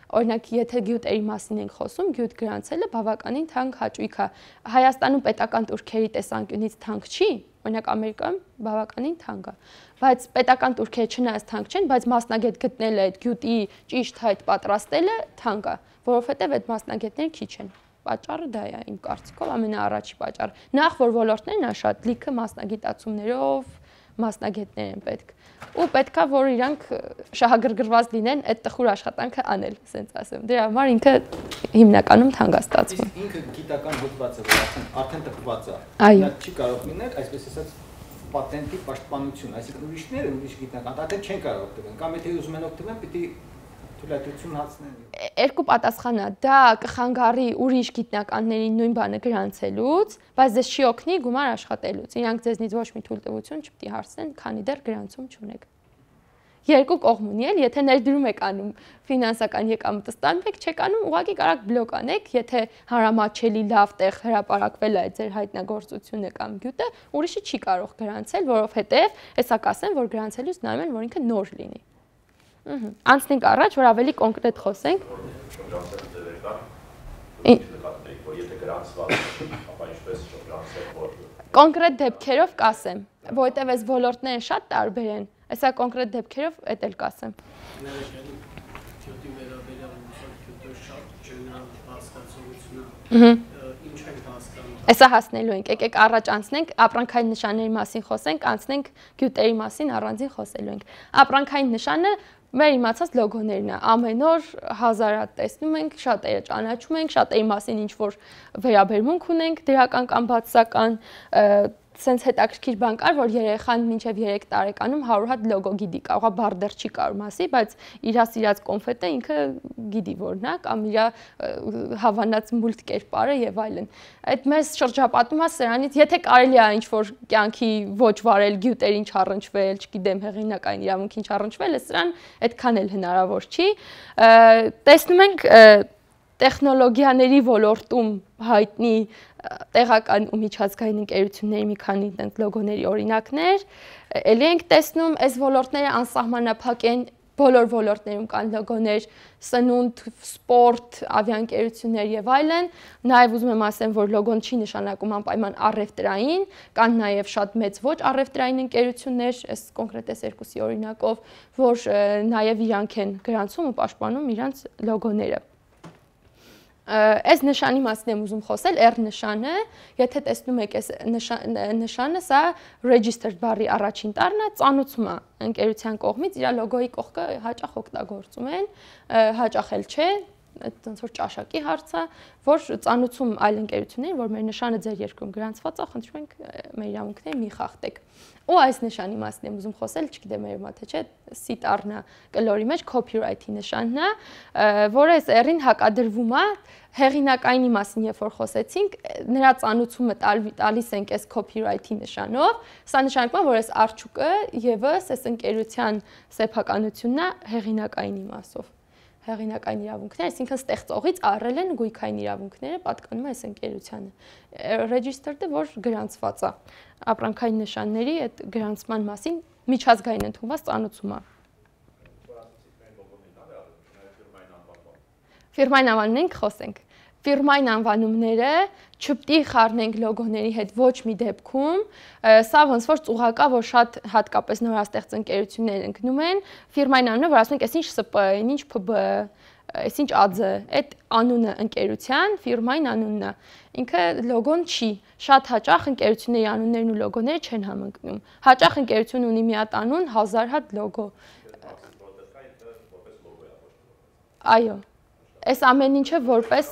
Օրինակ, եթե գյուտերի մասին ենք խոսում, գյուտ գրանցելը բավականին թանկ հաճույք է։ Հայաստանում պետական տուրքերի տեսանկյունից թանկ չի, օրինակ Ամերիկայում բավականին թանկ է, բայց պետական տուրքերը չնայած թանկ չեն, բայց մասնագետ գտնելը, այդ գյուտի ճիշտ հայտ պատրաստելը թանկ է, որովհետև այդ մասնագետները քիչ են։ Պատճառը դա է իմ կարծիքով ամենաառաջի պատճառը։ Նախ որ ոլորտներն է շատ լիքը մասնագիտացումներով մասնագետներ են պետք։ Ու պետքա որ իրանք շահագրգռված լինեն այդ տխուր աշխատանքը անել, ասենց ասեմ։ Դրա համար ինքը հիմնականում թանկ է ստացվում։ Իսկ ինքը գիտական հոդված է, որ արդեն արդեն տպված է։ Այո։ Չի կարող լինել, այսպես ասած, պատենտի պաշտպանություն, այսինքն ուրիշները ուրիշ գիտնական, արդեն չեն կարող օգտվել, կամ եթե ուզում են օգտվել, պիտի թույլատվություն հացնեն։ Երկու պատասխան է, դա կխանգարի ուրիշ գիտնականներին նույն բանը գրանցելուց, բայց դες չի օգնի գումար աշխատելուց։ Իրանք ձեզնից ոչ մի թույլտվություն չպետք է հարցնեն, քանի դեռ գրանցում չունեք։ Երկու կողմ ունի էլ, եթե ներդրում եք անում ֆինանսական եկամուտը ստանում եք, չեք անում, ուղղակի կարող բլոկ անեք, եթե հարամատչելի լավ տեղ հրապարակվել է ձեր հայտնագործությունը կամ գյուտը, ուրիշը չի կարող գրանցել, որովհետև հեսա կասեն, որ գրանցելուց նայում են, որ ինքը նոր լինի։ Անցնենք առաջ, որ ավելի կոնկրետ խոսենք։ Կոնկրետ դեպքերով կասեմ, որովհետև այս ոլորտները շատ տարբեր են, այսա կոնկրետ դեպքերով էդ էլ կասեմ։ Այսա հասնելու ենք, եկեք առաջ անցնենք, ապրանքային նշանների մասին խոսենք, անցնենք գյուտերի մասին առանձին խոսելու ենք։ Ապրանքային նշանը մեր իմացած լոգոներն է, ամեն օր հազարատ տեսնում ենք, շատերը ճանաչում ենք, շատերի մասին ինչ որ վերաբերմունք ունենք, դրական կամ բացասական, սենց հետաքրքիր բան կար, որ երեխան մինչև երեք տարեկանում հարյուր հատ լոգո գիտի, կարողա բառ դեռ չի կարող ասի, բայց իր սիրած կոնֆետը ինքը գիտի որն է, կամ իր հավանած մուլտ կերպարը եւ այլն։ Այդ մեզ շրջապատում է սրանից, եթե կարելի է ինչ-որ կյանքի ոչ վարել, գյուտերին չառնչվել, չգիտեմ, հեղինակային իրավունքին չառնչվել, սրան այդքան էլ հնարավոր չի։ Տեսնում ենք տեխնոլոգիաների ոլորտում հայտնի տեղական ու միջազգային ընկերությունների մի քանի տենց լոգոների օրինակներ, էլի ենք տեսնում, այս ոլորտները անսահմանափակ են, բոլոր ոլորտներում կան լոգոներ, սնունդ, սպորտ, ավիաընկերություններ եւ այլն, նաեւ ուզում եմ ասեմ, որ լոգոն չի նշանակում անպայման առևտրային, կան նաեւ շատ մեծ ոչ առևտրային ընկերություններ, այս կոնկրետ այս երկուսի օրինակով, որ նաեւ իրանք են գրանցում ու պաշտպանում իրանց լոգոները։ Այս նշանի մասին եմ ուզում խոսել, R նշանը, եթե տեսնում եք այս նշանը, սա registered բառի առաջին տառն է, ծանուցում է ընկերության կողմից, իր լոգոյի կողքը հաճախ օգտագործում են, հաճախ էլ չէ, ոնց որ ճաշակի հարց է, որ ծանուցում այլ ընկերություններին, որ մեր նշանը ձեր երկրում գրանցված է, խնդրում ենք մեր իրավունքները մի խախտեք։ Ու այս նշանի մասին եմ ուզում խոսել, չգիտեմ մեր մա թե չէ, C տառն է կլորի մեջ copyright-ի նշանն է, որը այս R-ին հակադրվում է հեղինակայինի մասին, երբ որ խոսեցինք, նրա ծանուցումը տալիս ենք այս copyright-ի նշանով, սա նշանակում է, որ այս արդյունքը եւս այս ընկերության սեփականությունն է հեղինակայինի մասով։ Հեղինակային իրավունքներ, այսինքն ստեղծողից առել են գույքային իրավունքները, պատկանում է այս ընկերությանը։ Registered-ը, որ գրանցված է, ապրանքային նշանների այդ գրանցման մասին միջազգային ընդունված ծանուցում է։ Ֆիրմային անվանումներին կխոսենք։ Ֆիրմային անվանումները չպետք է խառնենք լոգոների հետ ոչ մի դեպքում, սա ոնց որ ծուղակա, որ շատ հատկապես նորաստեղծ ընկերություններ ընկնում են, ֆիրմային անունը, որ ասում ենք, այսինչ ՍՊ, ինչ ՓԲ, այսինչ ԱՁ, այդ անունը ընկերության, ֆիրմային անունն է։ Ինքը լոգոն չի։ Շատ հաճախ ընկերությունների անուններն ու լոգոները չեն համընկնում։ Հաճախ ընկերությունը ունի մի հատ անուն, հազար հատ լոգո։ Այո։ Այս ամեն ինչը որպես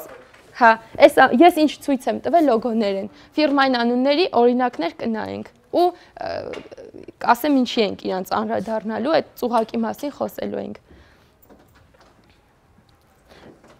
հա, այս ես ինչ ցույց եմ տվել լոգոներ են։ Ֆիրմային անունների օրինակներ կնայենք ու ասեմ ինչի ենք իրանց անդրադառնալու, այդ ծուղակի մասին խոսելու ենք։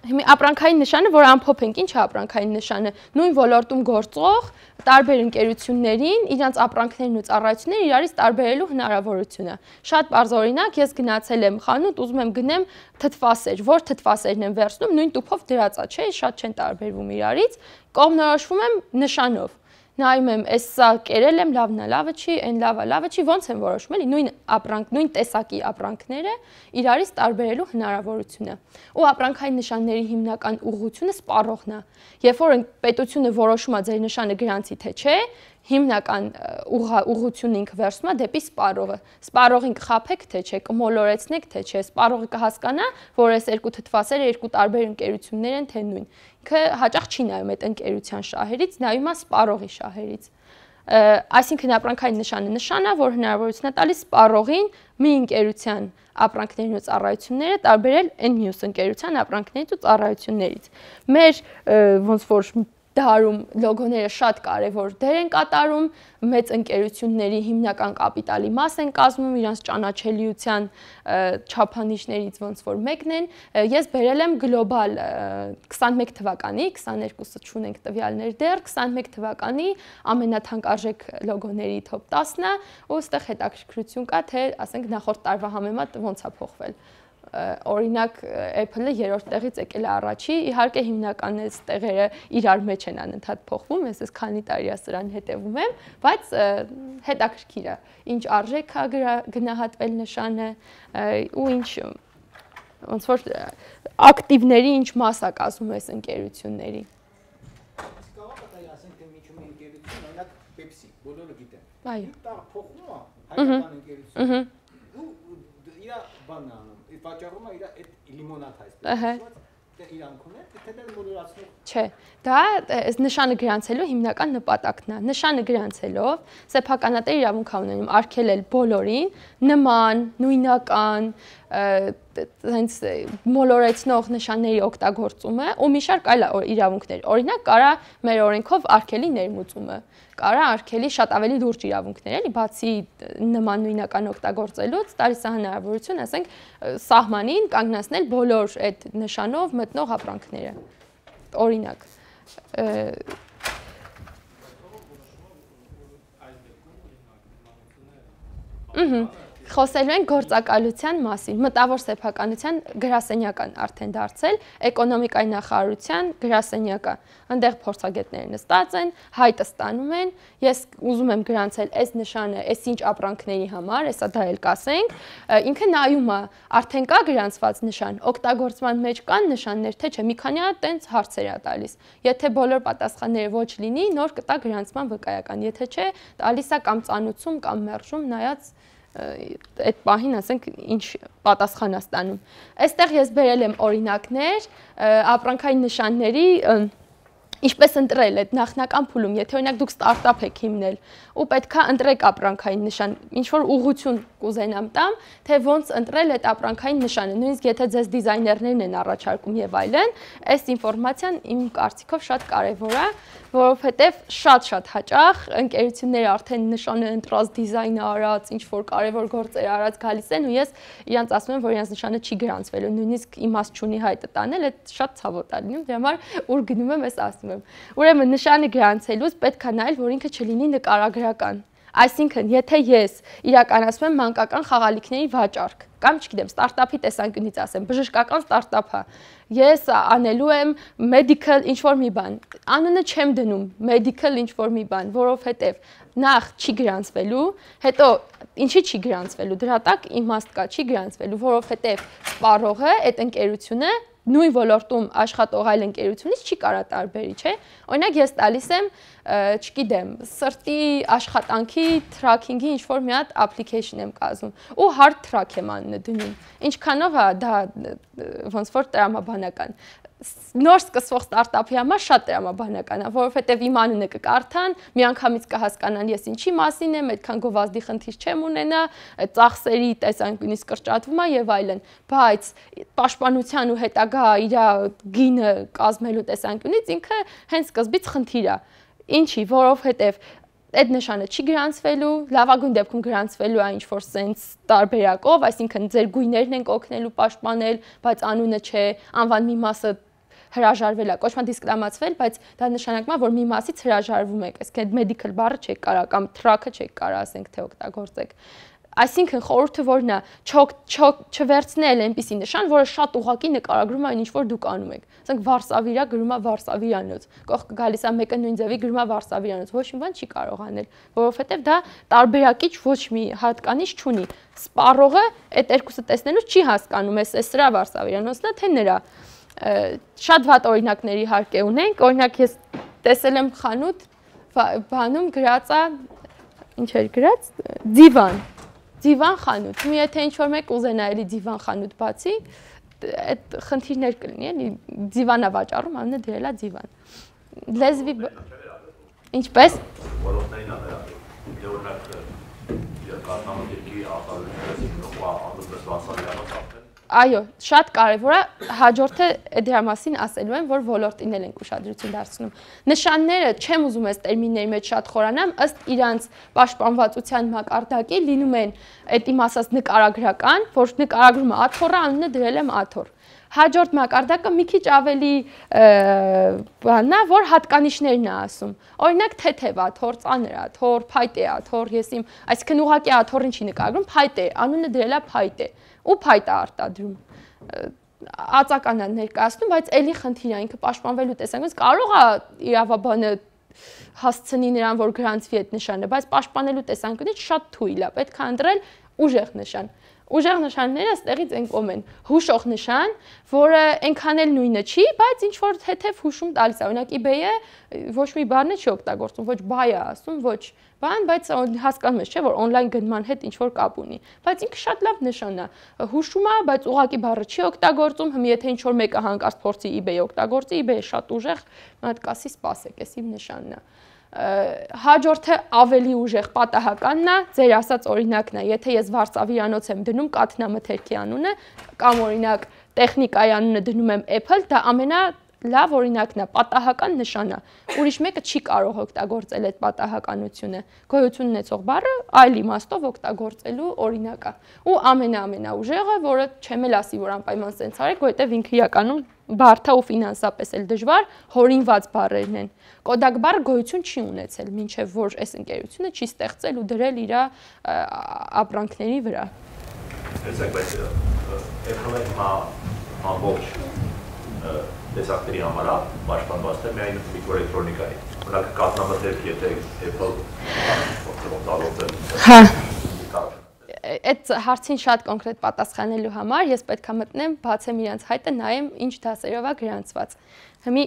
Հիմա ապրանքային նշանը, որ ամփոփ ենք, ինչ է ապրանքային նշանը, նույն ոլորտում գործող տարբեր ընկերություններին իրանց ապրանքներն ու ծառայությունները իրարից տարբերելու հնարավորությունը։ Շատ բարձ օրինակ, ես գնացել եմ խանութ, ուզում եմ գնեմ թթվասեր, որ թթվասերն եմ վերցնում, նույն տուփով դրած է, չէ, շատ չեն տարբերվում իրարից, կողմնորոշվում եմ նշանով։ Նայում եմ, այս սա կերել եմ, լավն է, լավը չի, այն լավը, լավը չի, ոնց եմ որոշում, էլի, նույն ապրանք, նույն տեսակի ապրանքները իրարից տարբերելու հնարավորությունը։ Ու ապրանքային նշանների հիմնական ուղղությունը սպառողն է։ Երբ որ պետությունը որոշում է ձեր նշանը գրանցի թե չէ, հիմնական ուղղությունը ինքը վերցնում է դեպի սպառողը։ Սպառողին կխաբեք թե չէ, կմոլորեցնեք թե չէ, սպառողը կհասկանա, որ այս երկու թթվասերը երկու տարբեր ընկերություններ են, թե նույն։ Ինքը հաճախ չի նայում այդ ընկերության շահերից, նայում է սպառողի շահերից։ Այսինքն ապրանքային նշանը նշան է, որ հնարավորություն է տալիս սպառողին մի ընկերության ապրանքներն ու ծառայությունները տարբերել այն մյուս ընկերության ապրանքներից ու ծառայություններից։ Մեր ոնց որ դարում լոգոները շատ կարևոր դեր են կատարում, մեծ ընկերությունների հիմնական կապիտալի մաս են կազմում, իրանց ճանաչելիության չափանիշներից ոնց որ մեկն են։ Ես բերել եմ գլոբալ քսանմեկ թվականի, քսաներկուսը չունենք տվյալներ դեռ, քսանմեկ թվականի ամենաթանկարժեք լոգոների top տասը, ու այստեղ հետաքրքրություն կա, թե ասենք նախորդ տարվա համեմատ ոնց է փոխվել։ Օրինակ Apple-ը երրորդ տեղից եկել է առաջի, իհարկե հիմնական այս տեղերը իրար մեջ են անընդհատ փոխվում, ես այս քանի տարի է սրան հետևում եմ, բայց հետաքրքիր է, ինչ արժեք է գնահատվել նշանը ու ինչ ոնց որ ակտիվների ինչ մաս է կազմում այս ընկերությունների։ Կարող է ասենք թե միջում ընկերություն, օրինակ Pepsi, բոլորը գիտեն։ Այո։ Դա փոխվում է հայկական ընկերություն։ Ու իր բանն է անում, վաճառում է իր այդ լիմոնադ այսպես։ Դե իրանքուն է, թե դա մոլորացնող։ Չէ, դա այս նշանը գրանցելու հիմնական նպատակն է։ Նշանը գրանցելով սեփականատեր իրավունք է ունենում արգելել բոլորին նման, նույնական, հենց մոլորեցնող նշանների օգտագործումը ու մի շարք այլ իրավունքներ։ Օրինակ, կարա մեր օրենքով արգելի ներմուծումը, կարա արգելի շատ ավելի լուրջ իրավունքներ, էլի, բացի նման նույնական օգտագործելուց, տալիս է հնարավորություն, ասենք, սահմանին կանգնացնել բոլոր այդ նշանով մտնող ապրանքները։ Օրինակ, Ահա Խոսելու են գործակալության մասին, մտավոր սեփականության գրասենյական արդեն դարձել, էկոնոմիկայի նախարարության գրասենյակը, այնտեղ փորձագետները նստած են, հայտը ստանում են, ես ուզում եմ գրանցել այս նշանը, այս ինչ ապրանքների համար, հեսա դա էլ կասենք, ինքը նայում է, արդեն կա գրանցված նշան, օգտագործման մեջ կան նշաններ, թե չէ, մի քանի հատ տենց հարցեր է տալիս, եթե բոլոր պատասխանները ոչ լինի, նոր կտա գրանցման վկայական, եթե չէ, տալիս է կամ ծանուցում, կամ մերժում, նայած այդ պահին, ասենք, ինչ պատասխան է ստանում։ Այստեղ ես բերել եմ օրինակներ ապրանքային նշանների, ինչպես ընտրել այդ նախնական փուլում, եթե օրինակ դուք ստարտափ եք հիմնել ու պետքա ընտրեք ապրանքային նշան, ինչ որ ուղղություն կուզենամ տամ, թե ոնց ընտրել այդ ապրանքային նշանը, նույնիսկ եթե ձեզ դիզայներներն են առաջարկում եւ այլն, այս ինֆորմացիան իմ կարծիքով շատ կարեւոր է, որովհետեւ շատ-շատ հաճախ ընկերությունները արդեն նշանը ընտրած, դիզայնը արած, ինչ որ կարևոր գործեր արած գալիս են ու ես իրանց ասում եմ, որ իրանց նշանը չի գրանցվելու, նույնիսկ իմաստ չունի հայտը տանել, այդ շատ ցավոտ է լինում, դրա համար ուր գնում եմ, ես ասում եմ։ Ուրեմն նշանը գրանցելուց պետք է նայել, որ ինքը չլինի նկարագրական։ Այսինքն, եթե ես իրականացնում եմ մանկական խաղալիքների վաճառք, կամ չգիտեմ, ստարտափի տեսանկյունից ասեմ, բժշկական ստարտափ է, ես անելու եմ medical ինչ-որ մի բան, անունը չեմ դնում medical ինչ-որ մի բան, որովհետև նախ չի գրանցվելու, հետո ինչի չի գրանցվելու, դրա տակ իմաստ կա, չի գրանցվելու, որովհետև սպառողը, այդ ընկերությունը նույն ոլորտում աշխատող այլ ընկերությունից չի կարա տարբերի, չէ։ Օրինակ ես տալիս եմ, չգիտեմ, սրտի աշխատանքի tracking-ի ինչ-որ մի հատ application եմ կազմում ու hard track եմ անունը դնում։ Ինչքանով է դա ոնց որ տրամաբանական։ Նոր սկսվող ստարտափի համար շատ տրամաբանական է, որովհետև իմ անունը կկարդան, միանգամից կհասկանան ես ինչի մասին եմ, այդքան գովազդի խնդիր չեմ ունենա, ծախսերի տեսանկյունից կրճատվում է եւ այլն, բայց պաշտպանության ու հետագա իր գինը կազմելու տեսանկյունից ինքը հենց սկզբից խնդիր է։ Ինչի, որովհետև այդ նշանը չի գրանցվելու, լավագույն դեպքում գրանցվելու է ինչ-որ սենց տարբերակով, այսինքն ձեր գույներն են օգնելու պաշտպանել, բայց անունը չէ, անվան մի մասը հրաժարվել է, կոչման դիսկրամացվել, բայց դա նշանակում է, որ մի մասից հրաժարվում եք, այսինքն medical բառը չեք կարա կամ track-ը չեք կարա ասենք թե օգտագործեք։ Այսինքն խորհուրդը որն է, չվերցնել այնպիսի նշան, որը շատ ուղղակի նկարագրում է այն ինչ որ դուք անում եք։ Ասենք Վարշավիա գրում է Վարշավիանոց, կողքը գալիս է մեկը նույն ձևի գրում է Վարշավիանոց, ոչ մի բան չի կարող անել, որովհետև դա տարբերակիչ ոչ մի հատկանիշ չունի։ Սպառողը այդ երկուսը տեսնելուց չի հասկանում, էս է սրա Վարշավիանոցն է, թե նրա։ Շատ վատ օրինակների հարկ է ունենք, օրինակ ես տեսել եմ խանութ, բանում գրած է, ինչ էր գրած, դիվան, դիվան խանութ, մի եթե ինչ-որ մեկ ուզենա էլի դիվան խանութ բացի, այդ խնդիրներ կլինի, էլի դիվան է վաճառում, անունը դրել է դիվան։ Լեզվի ինչպես։ Որոնքներն է նրա, օրինակ կազմակերպի արտադրության Այո, շատ կարևոր է, հաջորդը դրա մասին ասելու եմ, որ ոլորտին ենք ուշադրություն դարձնում։ Նշանները, չեմ ուզում այս տերմինների մեջ շատ խորանամ, ըստ իրանց պաշտպանվածության մակարդակի լինում են այդ իմ ասած նկարագրական, որ նկարագրումը աթոռը, անունը դրել եմ աթոռ։ Հաջորդ մակարդակը մի քիչ ավելի բանն է, որ հատկանիշներն է ասում։ Օրինակ թեթև աթոռ, ծանր աթոռ, փայտե աթոռ, ես իմ, այսինքն ուղղակի աթոռին չի նկարագրում, փայտե, անունը դրել է փայտե։ Ու փայտ է արտադրում։ Ածական է ներկայացնում, բայց էլի խնդիր է, ինքը պաշտպանվելու տեսանկյունից կարող է իրավաբանը հասցնի նրան, որ գրանցվի այդ նշանը, բայց պաշտպանելու տեսանկյունից շատ թույլ է, պետք է ընտրել ուժեղ նշան։ Ուժեղ նշանները այստեղից են կոմեն։ Հուշող նշան, որը այնքան էլ նույնը չի, բայց ինչ որ թեթև հուշում տալիս է։ Օրինակ eBay-ը ոչ մի բառն չի օգտագործում, ոչ buy է ասում, ոչ բան, բայց հասկանում ես, չէ՞, որ on-line գնման հետ ինչ որ կապ ունի։ Բայց ինքը շատ լավ նշան է։ Հուշում է, բայց ուղղակի բառը չի օգտագործում, հիմա եթե ինչ որ մեկը հանկարծ փորձի eBay օգտագործի, eBay-ը շատ ուժեղ, մատկասի սպասեք, էս իմ նշանն է։ Հաջորդը ավելի ուժեղ պատահականն է, ձեր ասած օրինակն է, եթե ես Վարշավիանոց եմ դնում կաթնամթերքի անունը, կամ օրինակ տեխնիկայի անունը դնում եմ Apple, դա ամենա լավ օրինակն է, պատահական նշան է։ Ուրիշ մեկը չի կարող օգտագործել այդ պատահականությունը։ Գոյություն ունեցող բառը այլ իմաստով օգտագործելու օրինակ է։ Ու ամենաամենաուժեղը, որը չեմ էլ ասի, որ անպայման սենց արեք, որովհետև ինքը իրականում բարդ է ու ֆինանսապես էլ դժվար, հորինված բառերն են։ Կոդակ բառը գոյություն չի ունեցել, մինչև որ այս ընկերությունը չի ստեղծել ու դրել իր ապրանքների վրա։ Տեսեք, բայց Apple-ը հիմա ամբողջ տեսակների համար է պաշտպանված է միայն միկրոէլեկտրոնիկայի։ Օրինակ կաթնամթերք, եթե Apple օգտագործել։ Հա։ Այդ հարցին շատ կոնկրետ պատասխանելու համար ես պետք է մտնեմ, բացեմ իրենց հայտը, նայեմ ինչ դասերով է գրանցված։ Հիմի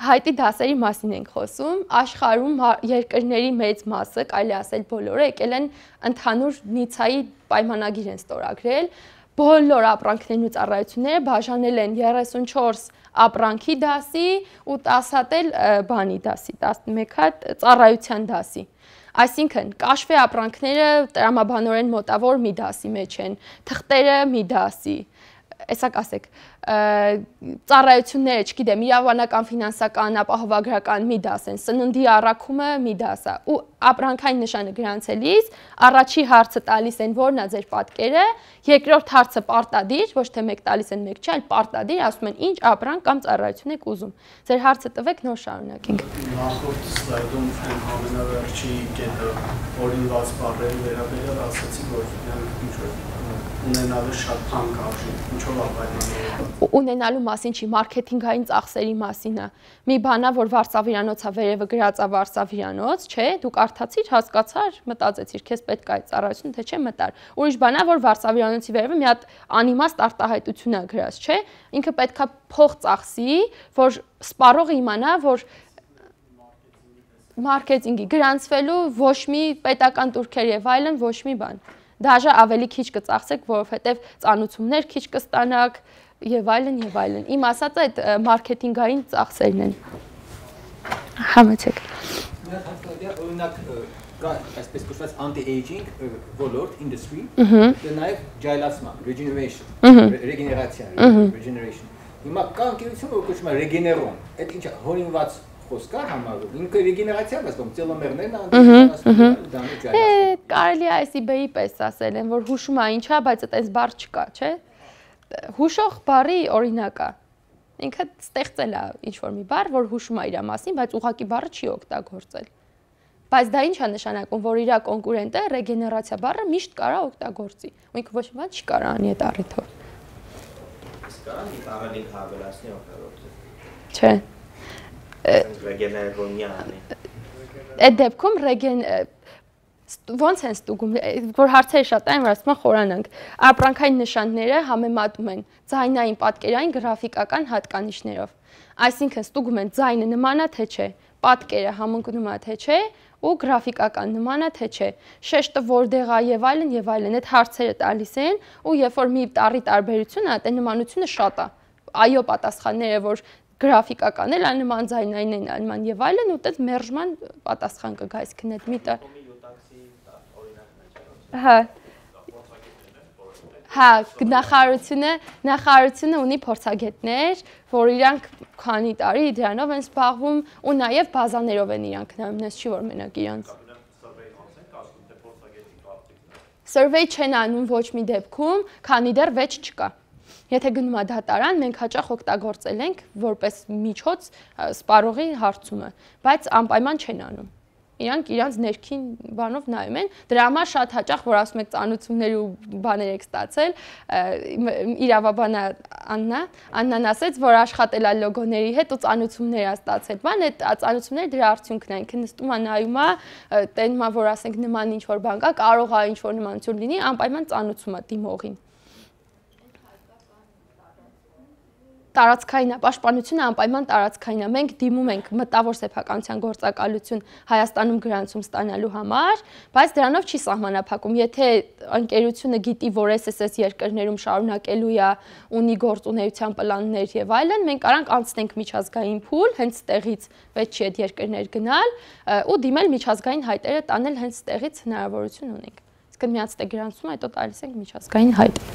հայտի դասերի մասին ենք խոսում, աշխարհում երկրների մեծ մասը, կարելի ասել բոլորը եկել են ընդհանուր Նիցայի պայմանագիր են ստորագրել, բոլոր ապրանքներն ու ծառայությունները բաժանել են երեսունչորս ապրանքի դասի ու տասը հատ էլ բանի դասի, տասնմեկ հատ ծառայության դասի։ Այսինքն, կաշվե ապրանքները տրամաբանորեն մոտավոր մի դասի մեջ են, թղթերը մի դասի, այսա կասեք, ծառայությունները, չգիտեմ, իրավաբանական, ֆինանսական, ապահովագրական մի դաս են, սննդի առաքումը մի դաս է, ու ապրանքային նշանը գրանցելիս առաջի հարցը տալիս են որն է ձեր պատկերը, երկրորդ հարցը պարտադիր, ոչ թե մեկ տալիս են մեկ չէ, այլ պարտադիր, ասում են ինչ ապրանք կամ ծառայություն եք ուզում։ Ձեր հարցը տվեք, նոր շարունակենք։ Նախորդ սլայդում ամենավերջի կետը օրինված բառերի վերաբերյալ ասացի, որ նրանք ինչ որ ունենալու շատ թանկ արժի, ինչով ապայմանավորված։ Ունենալու մասին չի, մարքեթինգային ծախսերի մասին է։ Մի բան է, որ Վարշավիանոցը վերևը գրած է Վարշավիանոց, չէ, դուք կարդացիր, հասկացար, մտածեցիր, քեզ պետք է այդ ծառայությունը, թե չէ մտար։ Ուրիշ բան է, որ Վարշավյանոցի վերևը մի հատ անիմաստ արտահայտություն է գրած, չէ։ Ինքը պետքա փող ծախսի, որ սպառողը իմանա, որ մարքեթինգի գրանցվելու ոչ մի պետական տուրքեր եւ այլն ոչ մի բան։ Դաժե ավելի քիչ կծախսեք, որովհետեւ ծանուցումներ քիչ կստանաք եւ այլն եւ այլն։ Իմ ասած այդ մարքեթինգային ծախսերն են։ Համեցեք։ Օրինակ կա այսպես կոչված anti-aging ոլորտ industry, դա նաեւ ջայլացման, regeneration, regeneration, regeneration։ Հիմա կա ընկերություն, որ կոչվում է Regeneron։ Այդ ինչ հորինված խոսք է համարվում։ Ինքը regeneration է, ասում ծելոմերներն անտեսանասում դա նույն ջայլացման։ Կարելի է այս eBay-ի պես ասել են, որ հուշում է ինչա, բայց այդպես բառ չկա, չէ՞։ Հուշող բառի օրինակ է։ Ինքը ստեղծել է ինչ-որ մի բառ, որ հուշում է իր մասին, բայց ուղղակի բառը չի օգտագործել։ Բայց դա ինչ է նշանակում, որ իր կոնկուրենտը ռեգեներացիա բառը միշտ կարա օգտագործի։ Ու ինքը ոչ մի բան չի կարա անի այդ առիթով։ Իսկ կարա մի parallel հավելացնի օգտագործել։ Չէ։ Ռեգեներոնյան։ Այդ դեպքում ռեգեն ոնց են ստուգում, որ հարցերը շատ այն, որ ասում են խորանանք։ Ապրանքային նշանները համեմատում են ձայնային, պատկերային, գրաֆիկական հատկանիշներով։ Այսինքն ստուգում են ձայնը նման է թե չէ, պատկերը համընկնում է թե չէ, ու գրաֆիկական նման է թե չէ, շեշտը որտեղ է եւ այլն եւ այլն։ Այդ հարցերը տալիս են, ու երբ որ մի տարի տարբերություն է, այդ նմանությունը շատ է։ Այո պատասխանները, որ գրաֆիկական էլ աննման ձայնային են, աննման եւ այլն, ու դες մերժման պատասխան կգա, այսինքն այդ մի տար Հա։ Հա, նախարարությունը, նախարարությունը ունի փորձագետներ, որ իրանք քանի տարի դրանով են զբաղվում ու նաև բազաներով են իրանք նայում, նես չի որ մենակ իրանք։ Survey չեն անում ոչ մի դեպքում, քանի դեռ վեճ չկա։ Եթե գնում է դատարան, մենք հաճախ օգտագործել ենք որպես միջոց սպառողի հարցումը, բայց անպայման չեն անում։ Իրանք իրանց ներքին բանով նայում են, դրա համար շատ հաճախ, որ ասում եք ծանուցումներ ու բաներ եք ստացել, իրավաբանը Աննա, Աննան ասեց, որ աշխատել է լոգոների հետ ու ծանուցումներ է ստացել, բան, այդ ծանուցումները դրա արդյունքն են, ինքը նստում է նայում է, տենում է, որ ասենք նման ինչ-որ բան կա, կարող է ինչ-որ նմանություն լինի, անպայման ծանուցում է դիմողին։ Տարածքային է, պաշտպանությունը անպայման տարածքային է։ Մենք դիմում ենք մտավոր սեփականության գործակալություն Հայաստանում գրանցում ստանալու համար, բայց դրանով չի սահմանափակում։ Եթե ընկերությունը գիտի, որ էս էս երկրներում շարունակելու է, ունի գործունեության պլաններ եւ այլն, մենք արանք անցնենք միջազգային փուլ, հենց ստեղից վեճի այդ երկրներ գնալ ու դիմել միջազգային հայտերը տանել հենց ստեղից հնարավորություն ունենք։ Իսկ միած դե գրանցում, հետո տալիս ենք միջազգային հայտ։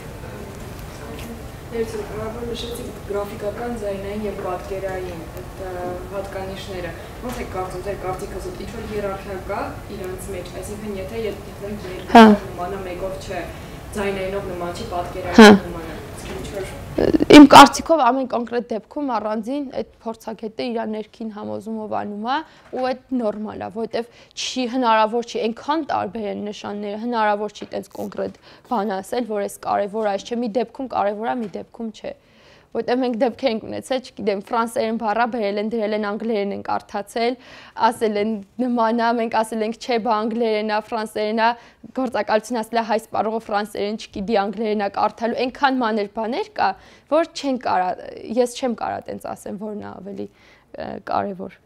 Ներսը, որ նշեցիք գրաֆիկական, ձայնային եւ պատկերային այդ հատկանիշները։ Ոնց է կարծում, ձեր կարծիքով ինչ-որ հիերարխիա կա իրանց մեջ, այսինքն եթե եթե երկու նմանա մեկով չէ, ձայնայինով նման չի, պատկերային նման է։ Իմ կարծիքով ամեն կոնկրետ դեպքում առանձին այդ փորձագետը իր ներքին համոզումով անում է ու այդ նորմալ է, որովհետև չի հնարավոր չի այնքան տարբեր են նշանները, հնարավոր չի այդպես կոնկրետ բան ասել, որ այս կարևոր այս չէ, մի դեպքում կարևոր է, մի դեպքում չէ։ Որտեղ մենք դեպքեր ենք ունեցել, չգիտեմ, ֆրանսերեն բառա բերել են, դրել են անգլերեն են կարդացել, ասել են նման է, մենք ասել ենք չէ, բա անգլերեն է, ֆրանսերեն է, գործակալությունը ասել է հայ սպառողը ֆրանսերեն չգիտի, անգլերեն է կարդալու, այնքան մանր բաներ կա, որ չեն կարա, ես չեմ կարա տենց ասեմ, որն է ավելի կարևոր։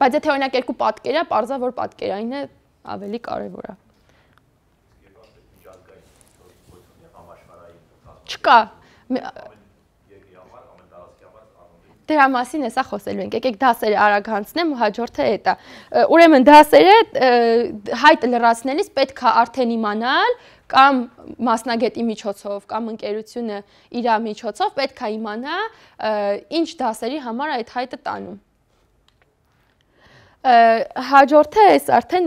Բայց եթե օրինակ երկու պատկեր է, պարզա որ պատկերային է ավելի կարևոր է։ Չկա։ Դրա մասին էսա խոսելու ենք, եկեք դասերը արագ հանցնեմ ու հաջորդը էդ է։ Ուրեմն դասերը հայտը լրացնելիս պետք է արդեն իմանալ կամ մասնագետի միջոցով կամ ընկերությունը իր միջոցով պետք է իմանա ինչ դասերի համար այդ հայտը տանում։ Հաջորդը էս արդեն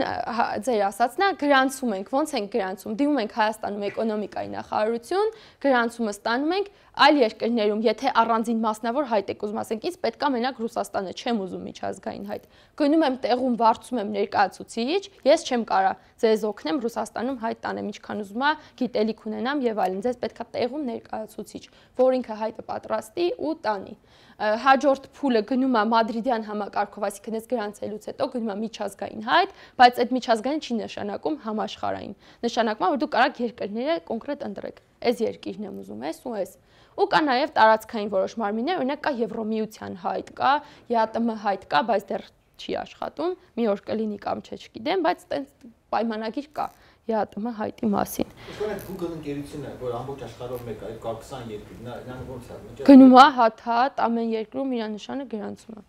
ձեր ասածն է, գրանցում ենք, ոնց ենք գրանցում, դիմում ենք Հայաստանում էկոնոմիկայի նախարարություն, գրանցումը ստանում ենք այլ երկրներում, եթե առանձին մասնավոր հայտ եք ուզում, ասենք ինձ պետք է մենակ Ռուսաստանը, չեմ ուզում միջազգային հայտ։ Գնում եմ տեղում վարձում եմ ներկայացուցիչ, ես չեմ կարա ձեզ օգնեմ Ռուսաստանում հայտ տանեմ, ինչքան ուզում ա, գիտելիք ունենամ եւ այլն, ձեզ պետք է տեղում ներկայացուցիչ, որ ինքը հայտը պատրաստի ու տանի։ հաջորդ փուլը գնում է մադրիդյան համակարգով, այսինքն այս գրանցելուց հետո գնում է միջազգային հայտ, բայց այդ միջազգային չի նշանակում համաշխարհային։ Նշանակում է, որ դու կարող երկրները կոնկրետ ընտրեք։ Այս երկիրն եմ ուզում, ես ու ես։ Ու կա նաև տարածքային որոշ մարմիններ, օրինակ կա Եվրոմիության հայտ, կա ԵԱՏՄ հայտ կա, բայց դեռ չի աշխատում, մի օր կլինի կամ չէ, չգիտեմ, բայց այդպես պայմանագիր կա ԵԱՏՄ հայտի մասին։ Իսկ այդ Google ընկերությունը, որ ամբողջ աշխարհով մեկ է, կա քսան երկիր, նա ոնց է։ Գնում է հատ-հատ ամեն երկրում իր նշանը գրանցում է։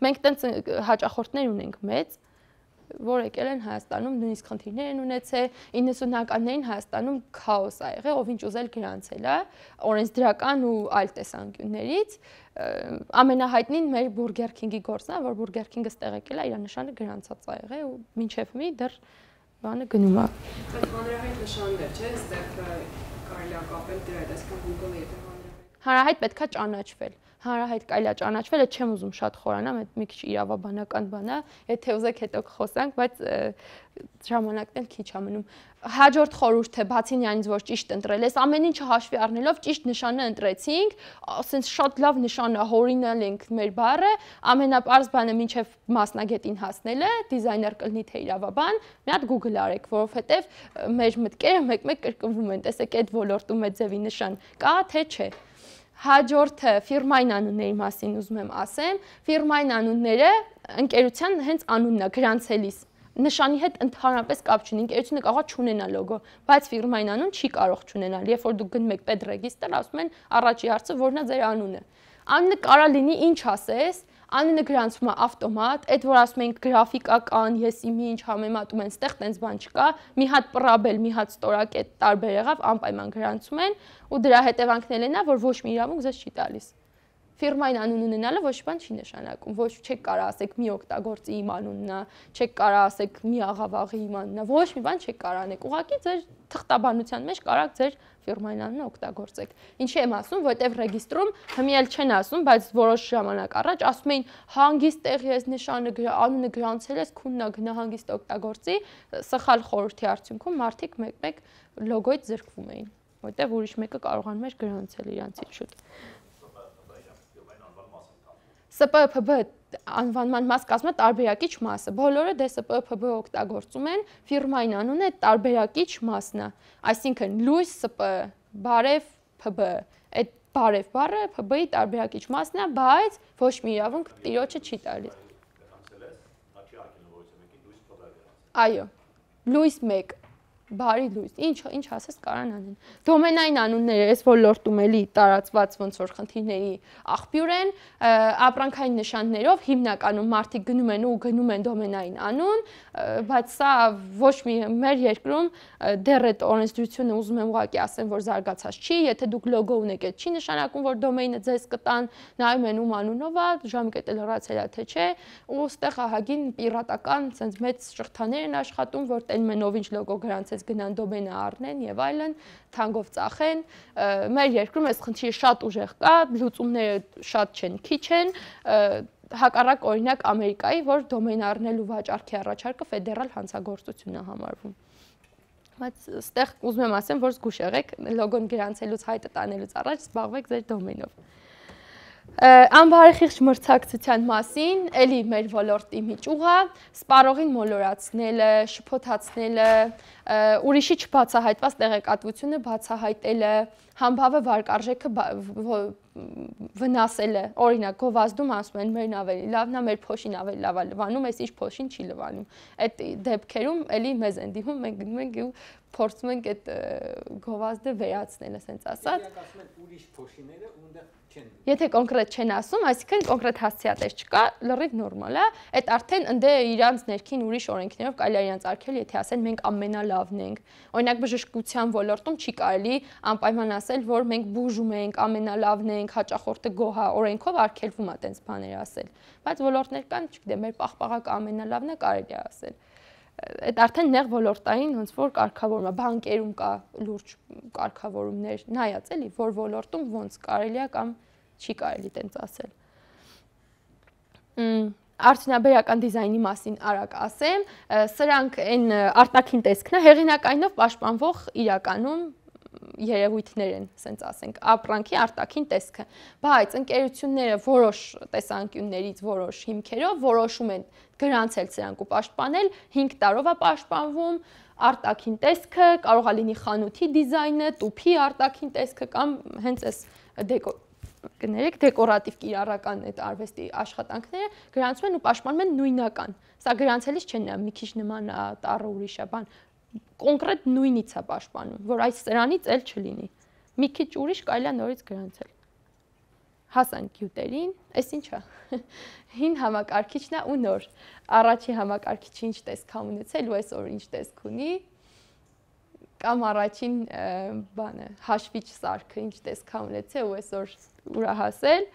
Մենք տենց հաճախորդներ ունենք մեծ, որ եկել են Հայաստանում, նույնիսկ խնդիրներ են ունեցել, իննսունականներին Հայաստանում քաոս ա եղել, ով ինչ ուզել գրանցել է, օրենսդրական ու այլ տեսանկյուններից, ամենահայտնին մեր Burger King-ի գործն է, որ Burger King-ը ստեղ եկել է, իր նշանը գրանցած ա եղել ու մինչև մի դեռ բանը գնում է։ Այդ հանրահայտ նշաններ, չէ՞, այստեղ կարելի է կապել դրա հետ, այսինքն Google-ը եթե հանրահայտ։ Հանրահայտ պետքա ճանաչվել։ Հանրահայտ կարելի է ճանաչվել, այդ չեմ ուզում շատ խորանամ, այդ մի քիչ իրավաբանական բան է, եթե ուզեք հետո կխոսանք, բայց ժամանակն էլ քիչ է մնում։ Հաջորդ խորհուրդը, բացի նրանից, որ ճիշտ ընտրել ես, ամեն ինչը հաշվի առնելով ճիշտ նշանը ընտրեցինք, ասենց շատ լավ նշան է, հորինալ ենք մեր բառը, ամենապարզ բանը մինչև մասնագետին հասնելը, դիզայներ կլինի թե իրավաբան, մի հատ Google արեք, որովհետև մեր մտքերը մեկ-մեկ կրկնվում են, տեսեք այդ ոլորտում այդ ձևի նշան կա թե չէ։ Հաջորդը ֆիրմային անունների մասին ուզում եմ ասեմ, ֆիրմային անունները ընկերության հենց անունն է գրանցելիս, նշանի հետ ընդհանրապես կապ չունի, ընկերությունը կարող է չունենալ լոգո, բայց ֆիրմային անուն չի կարող չունենալ, երբ որ դուք գնում եք պետրեգիստր, ասում են առաջի հարցը որն է ձեր անունը։ Անունը կարա լինի ինչ ասես, անունը գրանցվում է ավտոմատ, այդ որ ասում ենք գրաֆիկական, եսի մի ինչ համեմատում են, ստեղ տենց բան չկա, մի հատ պրաբել, մի հատ ստորակետ տարբեր եղավ, անպայման գրանցում են ու դրա հետևանքն էլ նա, որ ոչ մի իրավունք ձեզ չի տալիս։ Ֆիրմային անուն ունենալը ոչ բան չի նշանակում, ոչ չեք կարա ասեք մի օգտագործի իմ անունն է, չեք կարա ասեք մի աղավաղի իմ անունն է, ոչ մի բան չեք կարա անեք, ուղղակի ձեր թղթաբանության մեջ կարաք ձեր ֆիրմային անունը օգտագործեք։ Ինչի եմ ասում, որտեվ ռեգիստրում հմիել չեն ասում, բայց որոշ ժամանակ առաջ ասում էին հանգիստ տեղի ես նշանը անունը գրանցել ես, քուննա գնա հանգիստ օգտագործի, սխալ խորհրդի արդյունքում մարդիկ մեկ-մեկ լոգոյից զրկվում էին, որտեվ ուրիշ մեկը կարողանում էր գրանցել իրանցից շուտ։ Ս Պ Փ B անվանման մաս կազմում է տարբերակիչ մասը։ Բոլորը դե Ս Պ Փ B օգտագործում են, ֆիրմային անունը տարբերակիչ մասն է։ Այսինքն լույս Ս Պ, բարև Փ B, այդ բարև բառը Փ B-ի տարբերակիչ մասն է, բայց ոչ մի իրավունք տիրոջը չի տալիս։ Այո, լույս մեկ, բարի լույս, ինչ ինչ ասես կարան անեն։ Դոմենային անունները այս ոլորտում էլի տարածված ոնց որ խնդիրների աղբյուր են, ապրանքային նշաններով հիմնականում մարդիկ գնում են ու գնում են դոմենային անուն, բայց սա ոչ մի մեր երկրում դեռ այդ օրենսդրությունը ուզում եմ ուղղակի ասեմ, որ զարգացած չի, եթե դուք լոգո ունեք, այդ չի նշանակում, որ դոմեյնը ձեզ կտան, նայում են ում անունով է, ժամկետը լրացել է թե չէ, ու ստեղ ահագին պիրատական, sense մեծ շղթաներ են աշխատում, որ տենում են ով ինչ լոգո գրանցեց գնան դոմենը առնեն եւ այլն, թանկով ծախեն։ Մեր երկրում այս խնդիրը շատ ուժեղ կա, լուծումները շատ չեն, քիչ են, հակառակ օրինակ Ամերիկայի, որ դոմեն առնելու վաճառքի առաջարկը ֆեդերալ հանցագործություն է համարվում։ Բայց ստեղ ուզում եմ ասեմ, որ զգուշ եղեք, լոգոն գրանցելուց հայտը տանելուց առաջ զբաղվեք ձեր դոմենով։ Անբարեխիղճ մրցակցության մասին, էլի մեր ոլորտի մի ճյուղ է, սպառողին մոլորացնելը, շփոթացնելը, ուրիշի չբացահայտված տեղեկատվությունը բացահայտելը, համբավը վարկարժեքը վնասելը, օրինակ գովազդում ասում են մերն ավելի լավն է, մեր փոշին ավելի լավ է լվանում, այս իր փոշին չի լվանում։ Այդ դեպքերում էլի մեզ են դիվում, մենք գնում ենք ու փորձում ենք այդ գովազդը վերացնել, ասենց ասած։ Ասում են ուրիշ փոշիները ունդ Եթե կոնկրետ չեն ասում, այսինքն կոնկրետ հասցեատես չկա, լրիվ նորմալ է, այդ արդեն ընդ է իրանց ներքին ուրիշ օրենքներով կարելի է իրանց արգել, եթե ասեն մենք ամենալավն ենք։ Օրինակ բժշկության ոլորտում չի կարելի անպայման ասել, որ մենք բուժում ենք, ամենալավն ենք, հաճախորդը գոհ է, օրենքով արգելվում է այդպես բաներ ասել։ Բայց ոլորտներ կան, չգիտեմ, մեր պաղպաղակը ամենալավն է, կարելի է ասել։ Այդ արդեն նեղ ոլորտային ոնց որ կարգավորում է, բանկերում կա լուրջ կարգավորումներ, նայած էլի, որ ոլորտում ոնց կարելի է կամ չի կարելի տենց ասել։ Արդյունաբերական դիզայնի մասին արագ ասեմ, սրանք այն արտաքին տեսքն է, հեղինակայինով պաշտպանվող իրականում երևույթներ են, ասենք ասենք, ապրանքի արտաքին տեսքը, բայց ընկերությունները որոշ տեսանկյուններից, որոշ հիմքերով որոշում են գրանցել սրանք ու պաշտպանել, հինգ տարով է պաշտպանվում, արտաքին տեսքը, կարող է լինի խանութի դիզայնը, տուփի արտաքին տեսքը կամ հենց այս դեկոր կներեք դեկորատիվ կիրառական այդ արվեստի աշխատանքները գրանցում են ու պաշտպանում են նույնական։ Սա գրանցելիս չեն նա մի քիչ նման է տառը ուրիշ է, բան կոնկրետ նույնից է պաշտպանում, որ այս սրանից էլ չլինի։ Մի քիչ ուրիշ կարելի է նորից գրանցել։ Հասանք գյուտերին, այս ինչ է։ Հին համակարգիչն է ու նոր։ Առաջի համակարգիչը ինչ տեսք է ունեցել ու այսօր ինչ տեսք ունի։ Կամ առաջին բանը հաշվիչ սարքը ինչ տեսք է ունեցել ու այսօր ուրա հասել։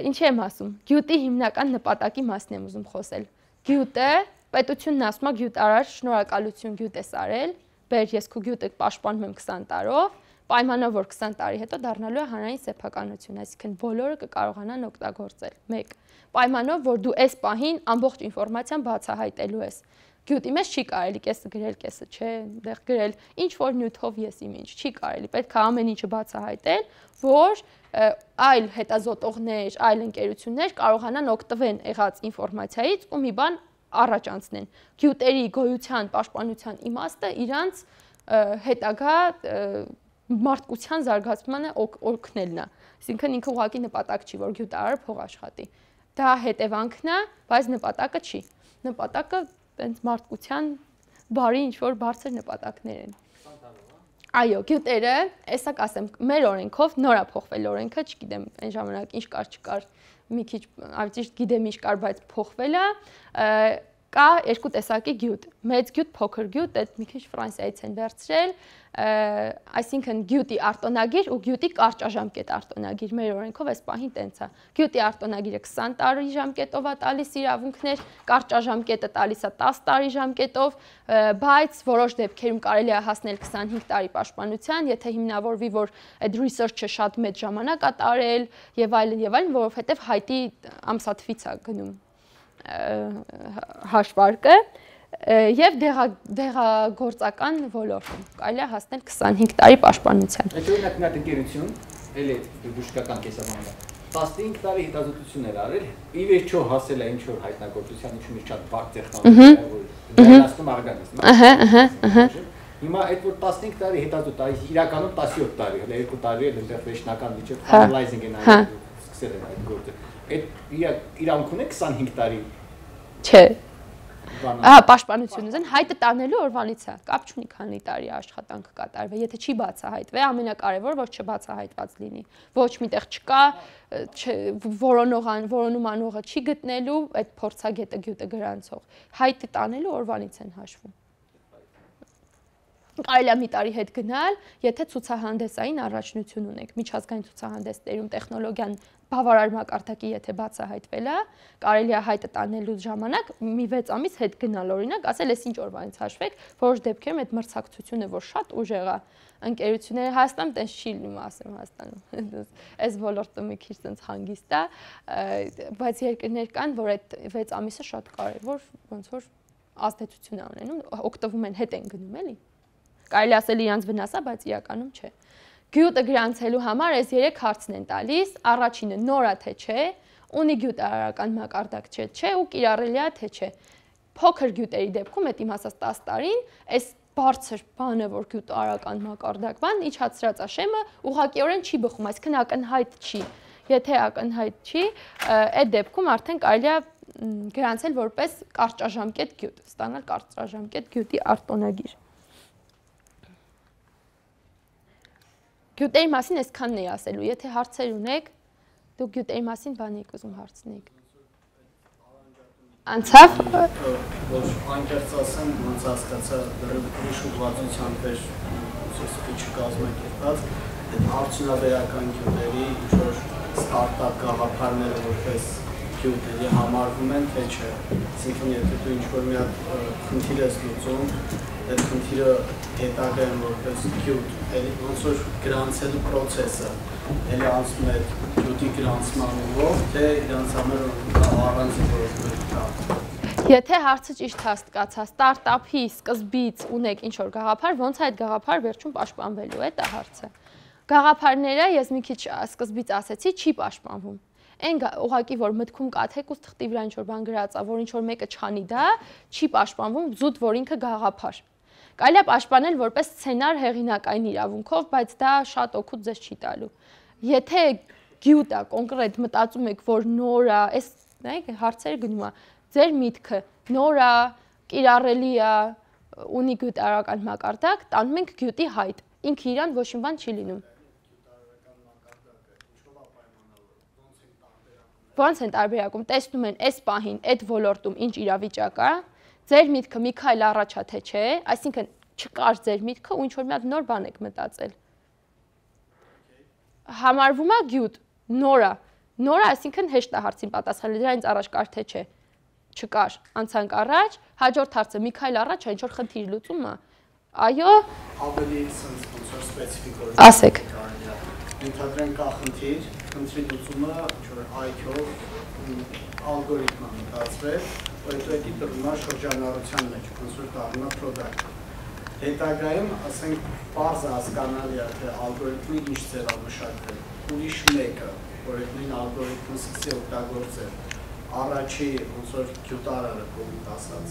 Ինչ եմ ասում։ Գյուտի հիմնական նպատակի մասն եմ ուզում խոսել։ Գյուտը պետությունն ասում է գյուտարար, շնորհակալություն գյուտ ես արել, բեր ես քո գյուտը պաշտպանում եմ քսան տարով, պայմանով որ քսան տարի հետո դառնալու է հանրային սեփականություն, այսինքն բոլորը կկարողանան օգտագործել։ մեկ Պայմանով որ դու այս պահին ամբողջ ինֆորմացիան բացահայտելու ես։ Գյուտի մեջ չի կարելի կեսը գրել, կեսը չէ, դեղ գրել, ինչ որ նյութով ես իմ ինչ, չի կարելի, պետք է ամեն ինչը բացահայտել, որ այլ հետազոտողներ, այլ ընկերություններ կարողանան օգտվեն եղած ինֆորմացիայից ու մի բան առաջ անցնեն։ Գյուտերի գոյության, պաշտպանության իմաստը իրանց հետագա մարդկության զարգացմանը օգնելն է։ Այսինքն ինքը ուղղակի նպատակ չի, որ գյուտարարը փող աշխատի։ Դա հետևանքն է, բայց նպատակը չի։ Նպատակը տենց մարդկության բարի ինչ-որ բարձր նպատակներ են։ Այո, գյուտերը, այսա կասեմ, մեր օրենքով նոր է փոխվել օրենքը, չգիտեմ, այն ժամանակ ինչ կար, չկար, մի քիչ ավճիշտ գիտեմ ինչ կար, բայց փոխվել է, կա երկու տեսակի գյուտ, մեծ գյուտ, փոքր գյուտ, այդ մի քիչ Ֆրանսիայից են վերցրել, այսինքն գյուտի արտոնագիր ու գյուտի կարճաժամկետ արտոնագիր, մեր օրենքով այս պահին տենց է։ Գյուտի արտոնագիրը քսան տարի ժամկետով է տալիս իրավունքներ, կարճաժամկետը տալիս է տասը տարի ժամկետով, բայց որոշ դեպքերում կարելի է հասնել քսանհինգ տարի պաշտպանության, եթե հիմնավորվի, որ այդ research-ը շատ մեծ ժամանակ է տարել եւ այլն եւ այլն, որովհետեւ հայտի ամսաթվից է գնում հաշվարկը եւ դեղագործական ոլորտում կարելի է հասնել քսանհինգ տարի պաշտպանության։ Այդ օրինակ մի հատ ընկերություն, էլի բուժկական կեսաբանական, տասնհինգ տարի հետազոտություն էր արել, ի վերջո հասել է ինչ որ հայտնագործության ինչ-որ շատ բարդ տեխնոլոգիա, որ դրանացնում արգանիզմ։ Ահա, ահա, ահա։ Հիմա այդ որ տասնհինգ տարի հետազոտ, այս իրականում տասնյոթ տարի, հələ երկու տարի էլ այնտեղ վերջնական միջև finalizing են արել, սկսել են այդ գործը։ Այդ իրավունք ունի քսանհինգ տարի։ Չէ։ Ահա, պաշտպանություն ուզեն, հայտը տանելու օրվանից է, կապ չունի քանի տարի աշխատանք կատարվել, եթե չի բացահայտվել, ամենակարևորը որ չբացահայտված լինի, ոչ միտեղ չկա, որոնողան, որոնում անողը չի գտնելու, այդ փորձագետը գյուտը գրանցող, հայտը տանելու օրվանից են հաշվում։ Կարելի է մի տարի հետ գնալ, եթե ցուցահանդեսային առաջնություն ունեք, միջազգային ցուցահանդեսներում տեխնոլոգիան բավարար մակարդակի եթե բացահայտվել է, կարելի է հայտը տանելու ժամանակ մի վեց ամիս հետ գնալ, օրինակ, ասել ես ինչ օրվանից հաշվեք, որոշ դեպքերում այդ մրցակցությունը, որ շատ ուժեղ է, ընկերությունները Հայաստանում տենց չի լինում, ասեմ Հայաստանում, այս ոլորտը մի քիչ տենց հանգիստ է, բայց երկրներ կան, որ այդ վեց ամիսը շատ կարևոր, ոնց որ ազդեցություն է ունենում, օգտվում են, հետ են գնում, էլի։ Կարելի ասել իրանց վնաս է, բայց իրականում չէ։ Գյուտը գրանցելու համար այս երեք հարցն են տալիս, առաջինը նոր է թե չէ, ունի գյուտարարական մակարդակ չէ, չէ ու կիրառելի է թե չէ։ Փոքր գյուտերի դեպքում, այդ իմ ասած տասը տարին, այս բարձր բանը, որ գյուտարարական մակարդակման իջացրած է շեմը, ուղղակիորեն չի բխում, այսինքն ակնհայտ չի։ Եթե ակնհայտ չի, այդ դեպքում արդեն կարելի է գրանցել որպես կարճաժամկետ գյուտ, ստանալ կարճաժամկետ գյուտի արտոնագիր։ Գյուտերի մասին այսքանն էի ասելու, եթե հարցեր ունեք, դուք գյուտերի մասին բան եք ուզում հարցնեիք։ Անցավ։ Որ անկեղծ ասեմ, ոնց հասկացա դրի շուտվածությամբ էր սպիչը կազմակերպած, այդ արդյունաբերական գյուտերի ինչ-որ ստարտափ գաղափարները որպես գյուտերի համարվում են, թե չէ։ Այսինքն, եթե դու ինչ-որ մի հատ խնդիր ես լուծում, այդ խնդիրը հետագայում որպես գյուտ, էլի ոնց որ գրանցելու պրոցեսը, էլի անցնում է գյուտի գրանցման ուղով, թե իրանց համար առանձին որոշումներ կա։ Եթե հարցը ճիշտ հասկացա, ստարտափի սկզբից ունեք ինչ-որ գաղափար, ոնց է այդ գաղափար վերջում պաշտպանվելու է, դա հարցը։ Գաղափարները, ես մի քիչ սկզբից ասեցի, չի պաշտպանվում։ Այն ուղղակի որ մտքում կա թեկուզ թղթի վրա ինչ-որ բան գրած է, որ ինչ-որ մեկը չանի դա, չի պաշտպանվում, զուտ որ ինքը գաղափար։ Կարելի է պաշտպանել որպես սցենար հեղինակային իրավունքով, բայց դա շատ օգուտ ձեզ չի տալու։ Եթե գյուտ է, կոնկրետ մտածում եք, որ նոր է, այս նայեք հարցերը գնում է, ձեր միտքը նոր է, կիրառելի է, ունի գյուտարական մակարդակ, տանում ենք գյուտի հայտ, ինքը իրան ոչ մի բան չի լինում։ Ոնց են տարբերակում, տեսնում են այս պահին, այդ ոլորտում ինչ իրավիճակ է, ձեր միտքը մի քայլ առաջ է թե չէ, այսինքն չկար ձեր միտքը ու ինչ-որ մի հատ նոր բան եք մտածել։ Համարվում է գյուտ, նոր է, նոր է, այսինքն հեշտ է հարցին պատասխանել, դրանից առաջ կար թե չէ, չկար, անցանք առաջ, հաջորդ հարցը մի քայլ առաջ է, ինչ-որ խնդիր լուծում է, այո, ավելի սենց սպեցիֆիկ ասեք։ Ենթադրենք կա խնդիր, խնդրի լուծումը այ-քյով ալգորիթմը մտածվել, որ հետո էդի տրվում է շրջանառության մեջ, ոնց որ դառնում է product։ Հետագայում, ասենք, պարզ հասկանալի է, թե ալգորիթմը ինչ ձև է մշակվել, ուրիշ մեկը, որ այդ նույն ալգորիթմը սկսի օգտագործել, առաջի ոնց որ գյուտարարը կողմից ասած,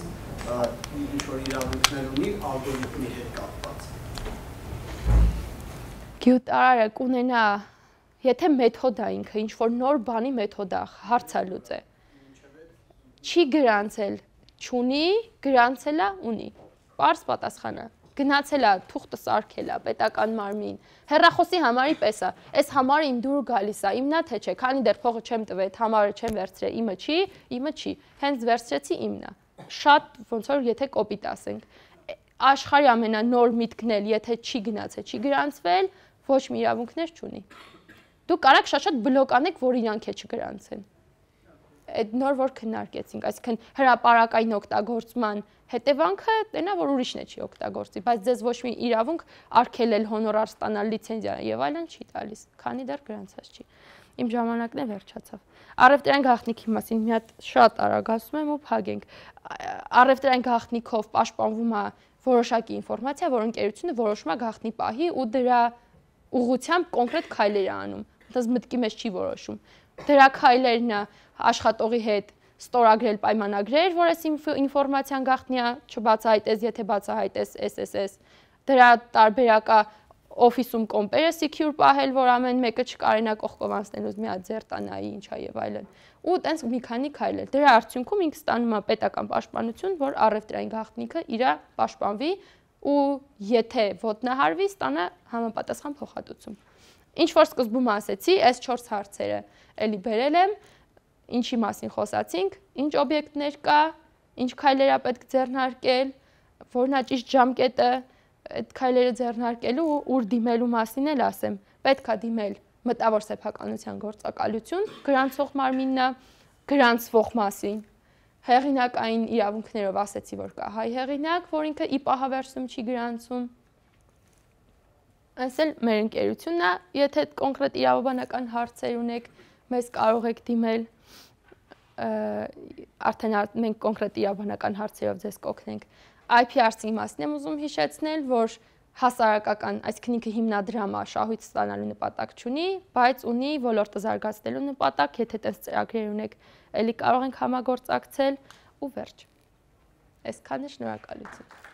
ինչ որ իրավունքներ ունի ալգորիթմի հետ կապված։ Գյուտարարը կունենա, եթե մեթոդ է ինքը, ինչ-որ նոր բանի մեթոդ է, հարց է լուծե։ Չի գրանցել, չունի, գրանցել է, ունի։ Պարզ պատասխան է։ Գնացել է, թուղթը սարքել է, պետական մարմին։ Հեռախոսի համարի պես է։ Այս համարը իմ դուր գալիս է, իմն է թե չէ, քանի դեռ փողը չեմ տվել, այդ համարը չեմ վերցրել, իմը չի, իմը չի։ Հենց վերցրեցի իմն է։ Շատ ոնց որ եթե կոպիտ ասենք։ Աշխարհի ամենանոր միտքն էլ, եթե չի գնացել, չի գրանցվել, ոչ մի իրավունքներ չունի։ Դուք կարաք շատ-շատ բլոկ անեք, որ իրանք է չգրանցեն։ Այդ նոր որ քննարկեցինք, այսինքն հրապարակային օգտագործման հետևանքը տենա, որ ուրիշն է չի օգտագործի, բայց ձեզ ոչ մի իրավունք արգելել, հոնորար ստանալ, լիցենզիա եւ այլն չի տալիս, քանի դեռ գրանցած չի։ Իմ ժամանակն է վերջացավ։ Առևտրային գաղտնիքի մասին մի հատ շատ արագ ասում եմ ու փակենք։ Առևտրային գաղտնիքով պաշտպանվում է որոշակի ինֆորմացիա, որ ընկերությունը որոշում է գաղտնի պահի ու դրա ուղղությամբ կոնկրետ քայլեր է անում։ Դες մտքի մեջ չի որոշում։ Դրա քայլերն է աշխատողի հետ ստորագրել պայմանագրեր, որ այս ինֆորմացիան գաղտնի է, չբացահայտես, եթե բացահայտես էս էս էս։ Դրա տարբերակա օֆիսում կոմպերը secure պահել, որ ամեն մեկը չկարենա կողքով անցնելուց մի հատ ձերտանայի, ինչա եւ այլն։ Ու տենց մի քանի քայլեր։ Դրա արդյունքում ինքը ստանում է պետական պաշտպանություն, որ առևտրային գաղտնիքը իր պաշտպանվի ու եթե ոտնահարվի, ստանա համապատասխան փոխհատուցում։ Ինչ որ սկզբում ասեցի, այս չորս հարցերը էլի բերել եմ, ինչի մասին խոսացինք, ինչ օբյեկտներ կա, ինչ քայլեր է պետք ձեռնարկել, որն է ճիշտ ժամկետը այդ քայլերը ձեռնարկելու ու ուր դիմելու մասին էլ ասեմ։ Պետք է դիմել մտավոր սեփականության գործակալություն, գրանցող մարմինն է, գրանցվող մասին։ Հեղինակային իրավունքներով ասեցի, որ կա հայ հեղինակ, որ ինքը ի պահավերսում չի գրանցում։ Այս էլ մեր ընկերությունն է, եթե կոնկրետ իրավաբանական հարցեր ունեք, մեզ կարող եք դիմել, արդեն մենք կոնկրետ իրավաբանական հարցերով ձեզ կօգնենք։ I P R C-ի մասին եմ ուզում հիշեցնել, որ հասարակական, այսինքն ինքը հիմնադրամը շահույթ ստանալու նպատակ չունի, բայց ունի ոլորտը զարգացնելու նպատակ, եթե տես ծրագրեր ունեք, էլի կարող ենք համագործակցել ու վերջ։ Այսքանը շնորհակալություն։